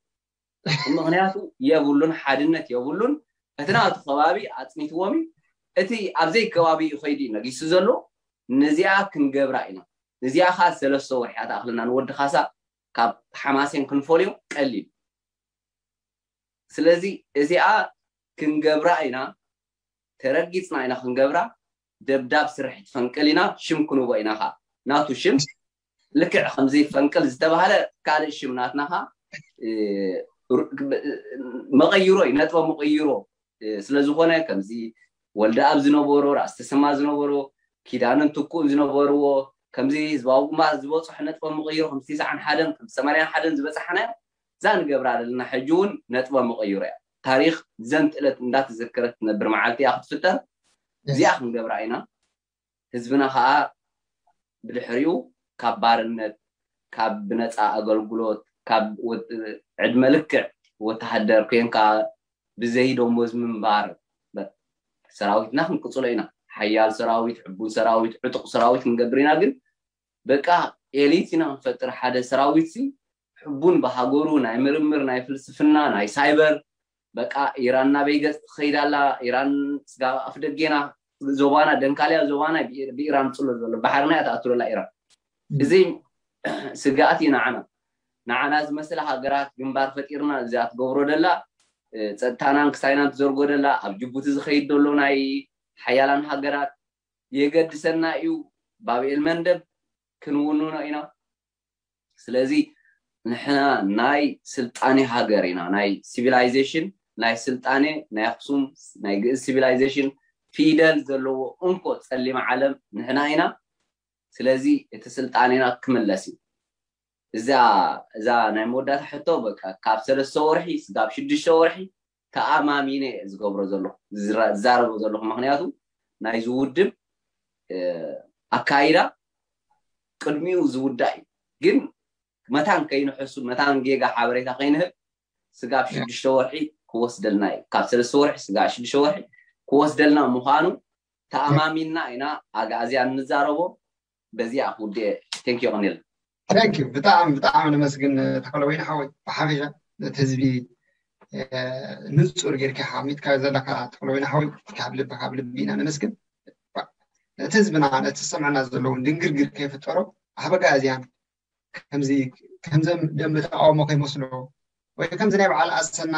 ምክንያቱ የብሉን፣ ሓድነት የብሉን። እቲ ናቱ ከባቢ ኣፅኒትዎም እዩ። እቲ ኣብዘይ ከባቢ እዩ ከይዱ ነጊሱ ዘሎ። ነዚኣ ክንገብራ ኢና። እዚኣ ከዓ ሰለስተ ወርሒ ኣትኣኽለና ንወዲ ካሳ ካብ ሓማሴን ክንፈልዮ ቀሊል። ስለዚ እዚኣ ክንገብራ ኢና፣ ተረጊፅና ኢና ክንገብራ። ደብዳብ ስርሒት ፈንቅል ኢና፣ ሽም ክንቦ ኢና ከዓ ናቱ ሽም ልክዕ ከምዚ ፈንቅል ዝተባህለ ካልእ ሽም ናትና ከዓ መቐይሮ እዩ፣ ነጥበ መቐይሮ ስለዝኾነ ከምዚ ወልደኣብ ዝነበሮ፣ ራእሲ ተሰማ ዝነበሮ፣ ኪዳንን ትኩእን ዝነበርዎ ከምዚ ህዝባዊ ግንባር ዝበፅሑ ነጥበ መቐይሮ ከም ትስዓን ሓደን ከም ሰማንያን ሓደን ዝበፃሕናዮ እዛ ንገብራ ዘለና ሕጂ እውን ነጥበ መቐይሮ እያ። ታሪኽ ዘንትእለት እንዳተዘከረት ትነብር መዓልቲ እያ ክትፍጠር። እዚኣ ክንገብራ ኢና። ህዝብና ከዓ ብድሕሪኡ ካብ ባርነት፣ ካብ ብነፃ ኣገልግሎት፣ ካብ ዕድመ ልክዕ ወተሃደር ኮይንካ ብዘይ ደሞዝ ምንባር ሰራዊትና ክንቅፅሎ ኢና። ሓያል ሰራዊት፣ ዕቡን ሰራዊት፣ ዕጡቕ ሰራዊት ክንገብር ኢና። ግን በቃ ኤሊት ኢና ንፈጥር። ሓደ ሰራዊት ሲ ሕቡን ብሃገሩ ናይ ምርምር፣ ናይ ፍልስፍና፣ ናይ ሳይበር በቃ ኢራን ናበይ ገፅ ትኸይድ ኣላ? ኢራን ስጋብ ኣፍ ደጌና ዞባና ደንካልያ ዞባና ብኢራን ፅሎ ዘሎ ባሕርና እያ ትኣትሎ ኣላ ኢራን። እዚ ስግኣት እዩ ንዓና። ንዓና ዝመስላ ሃገራት ግንባር ፈጢርና እዚኣ ትገብሮ ደላ ጸጥታናን ክሳይናን ትዘርጎ ደላ ኣብ ጅቡቲ ዝኸይድ ዘሎ ናይ ሓያላን ሃገራት የገድሰና እዩ። ባብኤል መንደብ ክንውንኖ ኢና። ስለዚ ንሕና ናይ ስልጣኔ ሃገር ኢና። ናይ ሲቪላይዜሽን ናይ ስልጣኔ ናይ ኣክሱም ናይ ግእዝ ሲቪላይዜሽን ፊደል ዘለዎ እንኮ ጸሊም ዓለም ንሕና ኢና። ስለዚ እቲ ስልጣኔና ክምለስ እዩ። እዛ እዛ ናይ መወዳእታ ሕቶ በቃ ካብ ሰለስተ ወርሒ ስጋብ ሽዱሽተ ወርሒ ተኣማሚነ እየ ዝገብሮ ዘለኹ ዝዛረቦ ዘለኹ። ምክንያቱ ናይዚ ውድብ ኣካይዳ ቅድሚኡ ዝውዳእ እዩ። ግን መታን ከይንሕሱ መታን ጌጋ ሓበሬታ ከይንህብ ስጋብ ሽዱሽተ ወርሒ ክወስደልና እዩ። ካብ ሰለስተ ወርሒ ስጋብ ሽዱሽተ ወርሒ ክወስደልና ምዃኑ ተኣማሚንና ኢና ኣግኣዝያን ንዛረቦ። በዚኣ ክውድእ። ቴንኪዩ ቅኒል። ቴንኪዩ። ብጣዕሚ ብጣዕሚ ነመስግን ተኽለወይኒ ሓወይ። ብሓፈሻ ነቲ ህዝቢ ንፁር ጌርካ ሓሚድካ ዘለካ ተኽለወይኒ ሓወይ ካብ ልቢ ካብ ልቢ ኢና ነመስግን። ነቲ ህዝብና ነቲ ዝሰምዐና ዘለውን ድንግርግር ከይፍጠሮ ኣህበጋዝያን ከምዚ ከምዘም ደንበ ተቃውሞ ከይመስሎ ወይ ከምዚ ናይ በዓል ኣሰና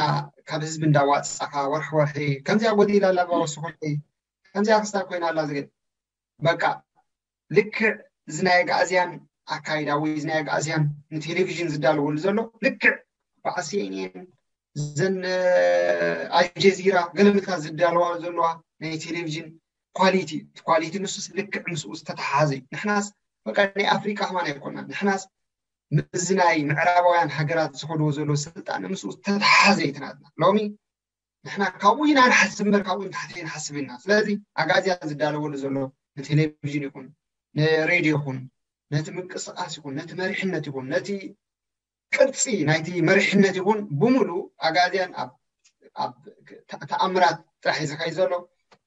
ካብ ህዝቢ እንዳዋፃኻ ወርሒ ወርሒ ከምዚኣ ጎዲላ ኣላ ባወስኹልይ ከምዚኣ ክስታ ኮይና ኣላ ዝብል በቃ ልክዕ እዚ ናይ ኣግኣዝያን ኣካይዳ ወይ እዚ ናይ ኣግኣዝያን ንቴሌቪዥን ዝዳለወሉ ዘሎ ልክዕ በዓል ሲኤንኤን ዘን ኣልጀዚራ ገለመልካ ዝዳለዋ ዘለዋ ናይ ቴሌቪዥን ኳሊቲ እቲ ኳሊቲ ንሱስ ልክዕ ምስኡ ዝተተሓሓዘ እዩ። ንሕናስ በቃ ናይ ኣፍሪቃ ከማን ኣይኮናን። ንሕናስ ምስዚ ናይ ምዕራባውያን ሃገራት ዝኸድዎ ዘለዉ ስልጣነ ምስኡ ዝተተሓዘ እዩ ናትና። ሎሚ ንሕና ካብኡ ኢና ንሓስብ እምበር ካብኡ ንታሕቲ ኣይንሓስብ ኢና። ስለዚ ኣጋዝያን ዝዳለወሉ ዘሎ ንቴሌቪዥን ይኹን ንሬድዮ ይኹን ነቲ ምንቅስቃስ ይኹን ነቲ መሪሕነት ይኹን ነቲ ቅርፂ ናይቲ መሪሕነት ይኹን ብምሉእ ኣጋዝያን ኣብ ኣብ ተ- ተኣምራት ጥራሕ እዩ ዝኸይድ ዘሎ።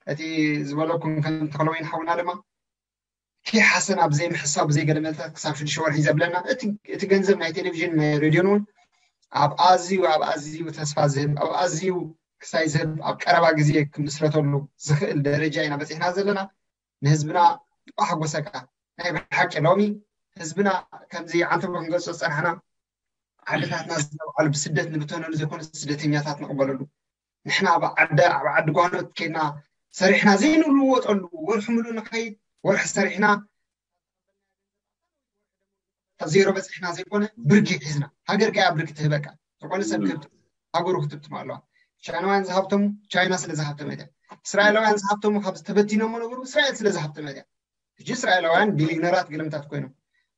እቲ ዝበለኩም ከም ተኽለወይን ሓውና ድማ ኪሓሰን ኣብ ዘይምሕሳብ ብዘይገለመታት ክሳብ ሽዱሽተ ወርሒ ዘብለና እቲ እቲ ገንዘብ ናይ ቴሌቪዥን ናይ ሬድዮን እውን ኣብ ኣዝዩ ኣብ ኣዝዩ ተስፋ ዝህብ ኣብ ኣዝዩ ክሳይ ዝህብ ኣብ ቀረባ ግዜ ክምስረተሉ ዝኽእል ደረጃ ኢና በፂሕና ዘለና። ንህዝብና ብሓጎሰካ ናይ ብሓቂ ሎሚ ህዝብና ከምዚ ዓንተቦ ክንገጾ ዝፀናሕና ዓድታትና ዝተባዕሉ ብስደት ንብተነሉ ዘይኮነ ስደተኛታት ንቕበለሉ። ንሕና ኣብ ዓዲ ኣብ ዓዲ ጓኖት ኬድና ሰሪሕና ዘይንልወጠሉ ወርሒ ሙሉእ ንኸይድ ወርሒ ሰሪሕና ኣብ ዜሮ በፂሕና ዘይኮነ ብርጊ ሒዝና ሃገር ከያ ብርጊ ትህበካ ዝኾነ ሰብ ክህብ ሃገሩ ክትብትም ኣለዋ። ቻይናውያን ዝሃብተሙ ቻይና ስለ ዝሃብተመት እያ። እስራኤላውያን ዝሃብተሙ ካብ ተበቲኖም ነበሩ እስራኤል ስለ ዝሃብተመት እያ። ሕጂ እስራኤላውያን ቢሊዮነራት ግልምታት ኮይኖም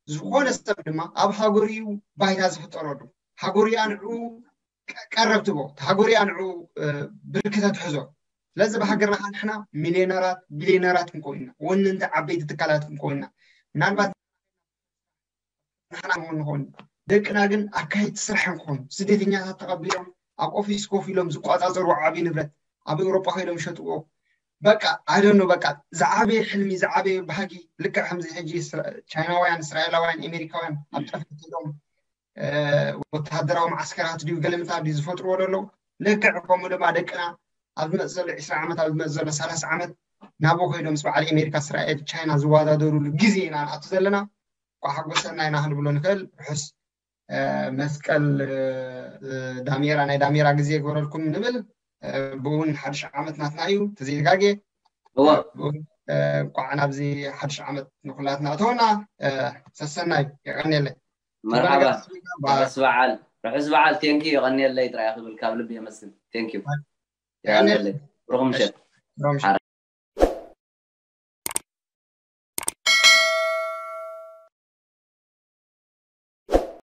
ዝኾነ ሰብ ድማ ኣብ ሃገሩ እዩ ባይታ ዝፍጠረሉ ሃገሩ እያ ንዕኡ ቀረብ ትቦ ሃገሩ እያ ንዕኡ ብርክተ ትሕዞ። ስለዚ ብሃገርና ከዓ ንሕና ሚሊዮነራት ቢሊዮነራት ክንከውን ኢና ወነንቲ ዓበይቲ ትካላት ክንከውን ኢና። ምናልባት ንሕና እውን ንኸውን ደቅና ግን ኣካየድቲ ስራሕ ንክኾኑ ስደተኛታት ተቐቢሎም ኣብ ኦፊስ ኮፍ ኢሎም ዝቆፃፀሩ ዓብዪ ንብረት ኣብ ኤውሮጳ ከይዶም ይሸጥዎ። በቃ ኣይደኖ በቃ ዝዓበየ ሕልሚ ዝዓበየ ባህጊ ልክዕ ከምዚ ሕጂ እስራ- ቻይናውያን እስራኤላውያን ኣሜሪካውያን ኣብ ጠፈር ከይዶም ወታደራዊ ማዓስከራት ድዩ ገለምታ ድዩ ዝፈጥርዎ ዘለዉ ልክዕ ከምኡ ድማ ደቅና ኣብ ዝመፅ ዘሎ ዕስራ ዓመት ኣብ ዝመፅ ዘሎ ሰላሳ ዓመት ናብኡ ከይዶም ምስ በዓል ኣሜሪካ እስራኤል ቻይና ዝወዳደሩሉ ግዜ ኢና ንኣቱ ዘለና። ኳ ሓጎሰና ኢና ክንብሎ ንኽእል። ርሑስ መስቀል ዳሜራ ናይ ዳሜራ ግዜ ይግበረልኩም ንብል። ብእውን ሓድሽ ዓመት ናትና እዩ ተዘይተጋጌ። እንቋዕ ናብዚ ሓድሽ ዓመት ንኩላትና እተወና። ሰሰናዩ የቀንየለይ። መርሓባ። ርሑስ በዓል ርሑስ በዓል። ቴንኪ የቀንየለይ ጥራይ ክብል ካብ ልቢ የመስል። ቴንኪ የቀንየለይ። ብሩኽ ምሸት።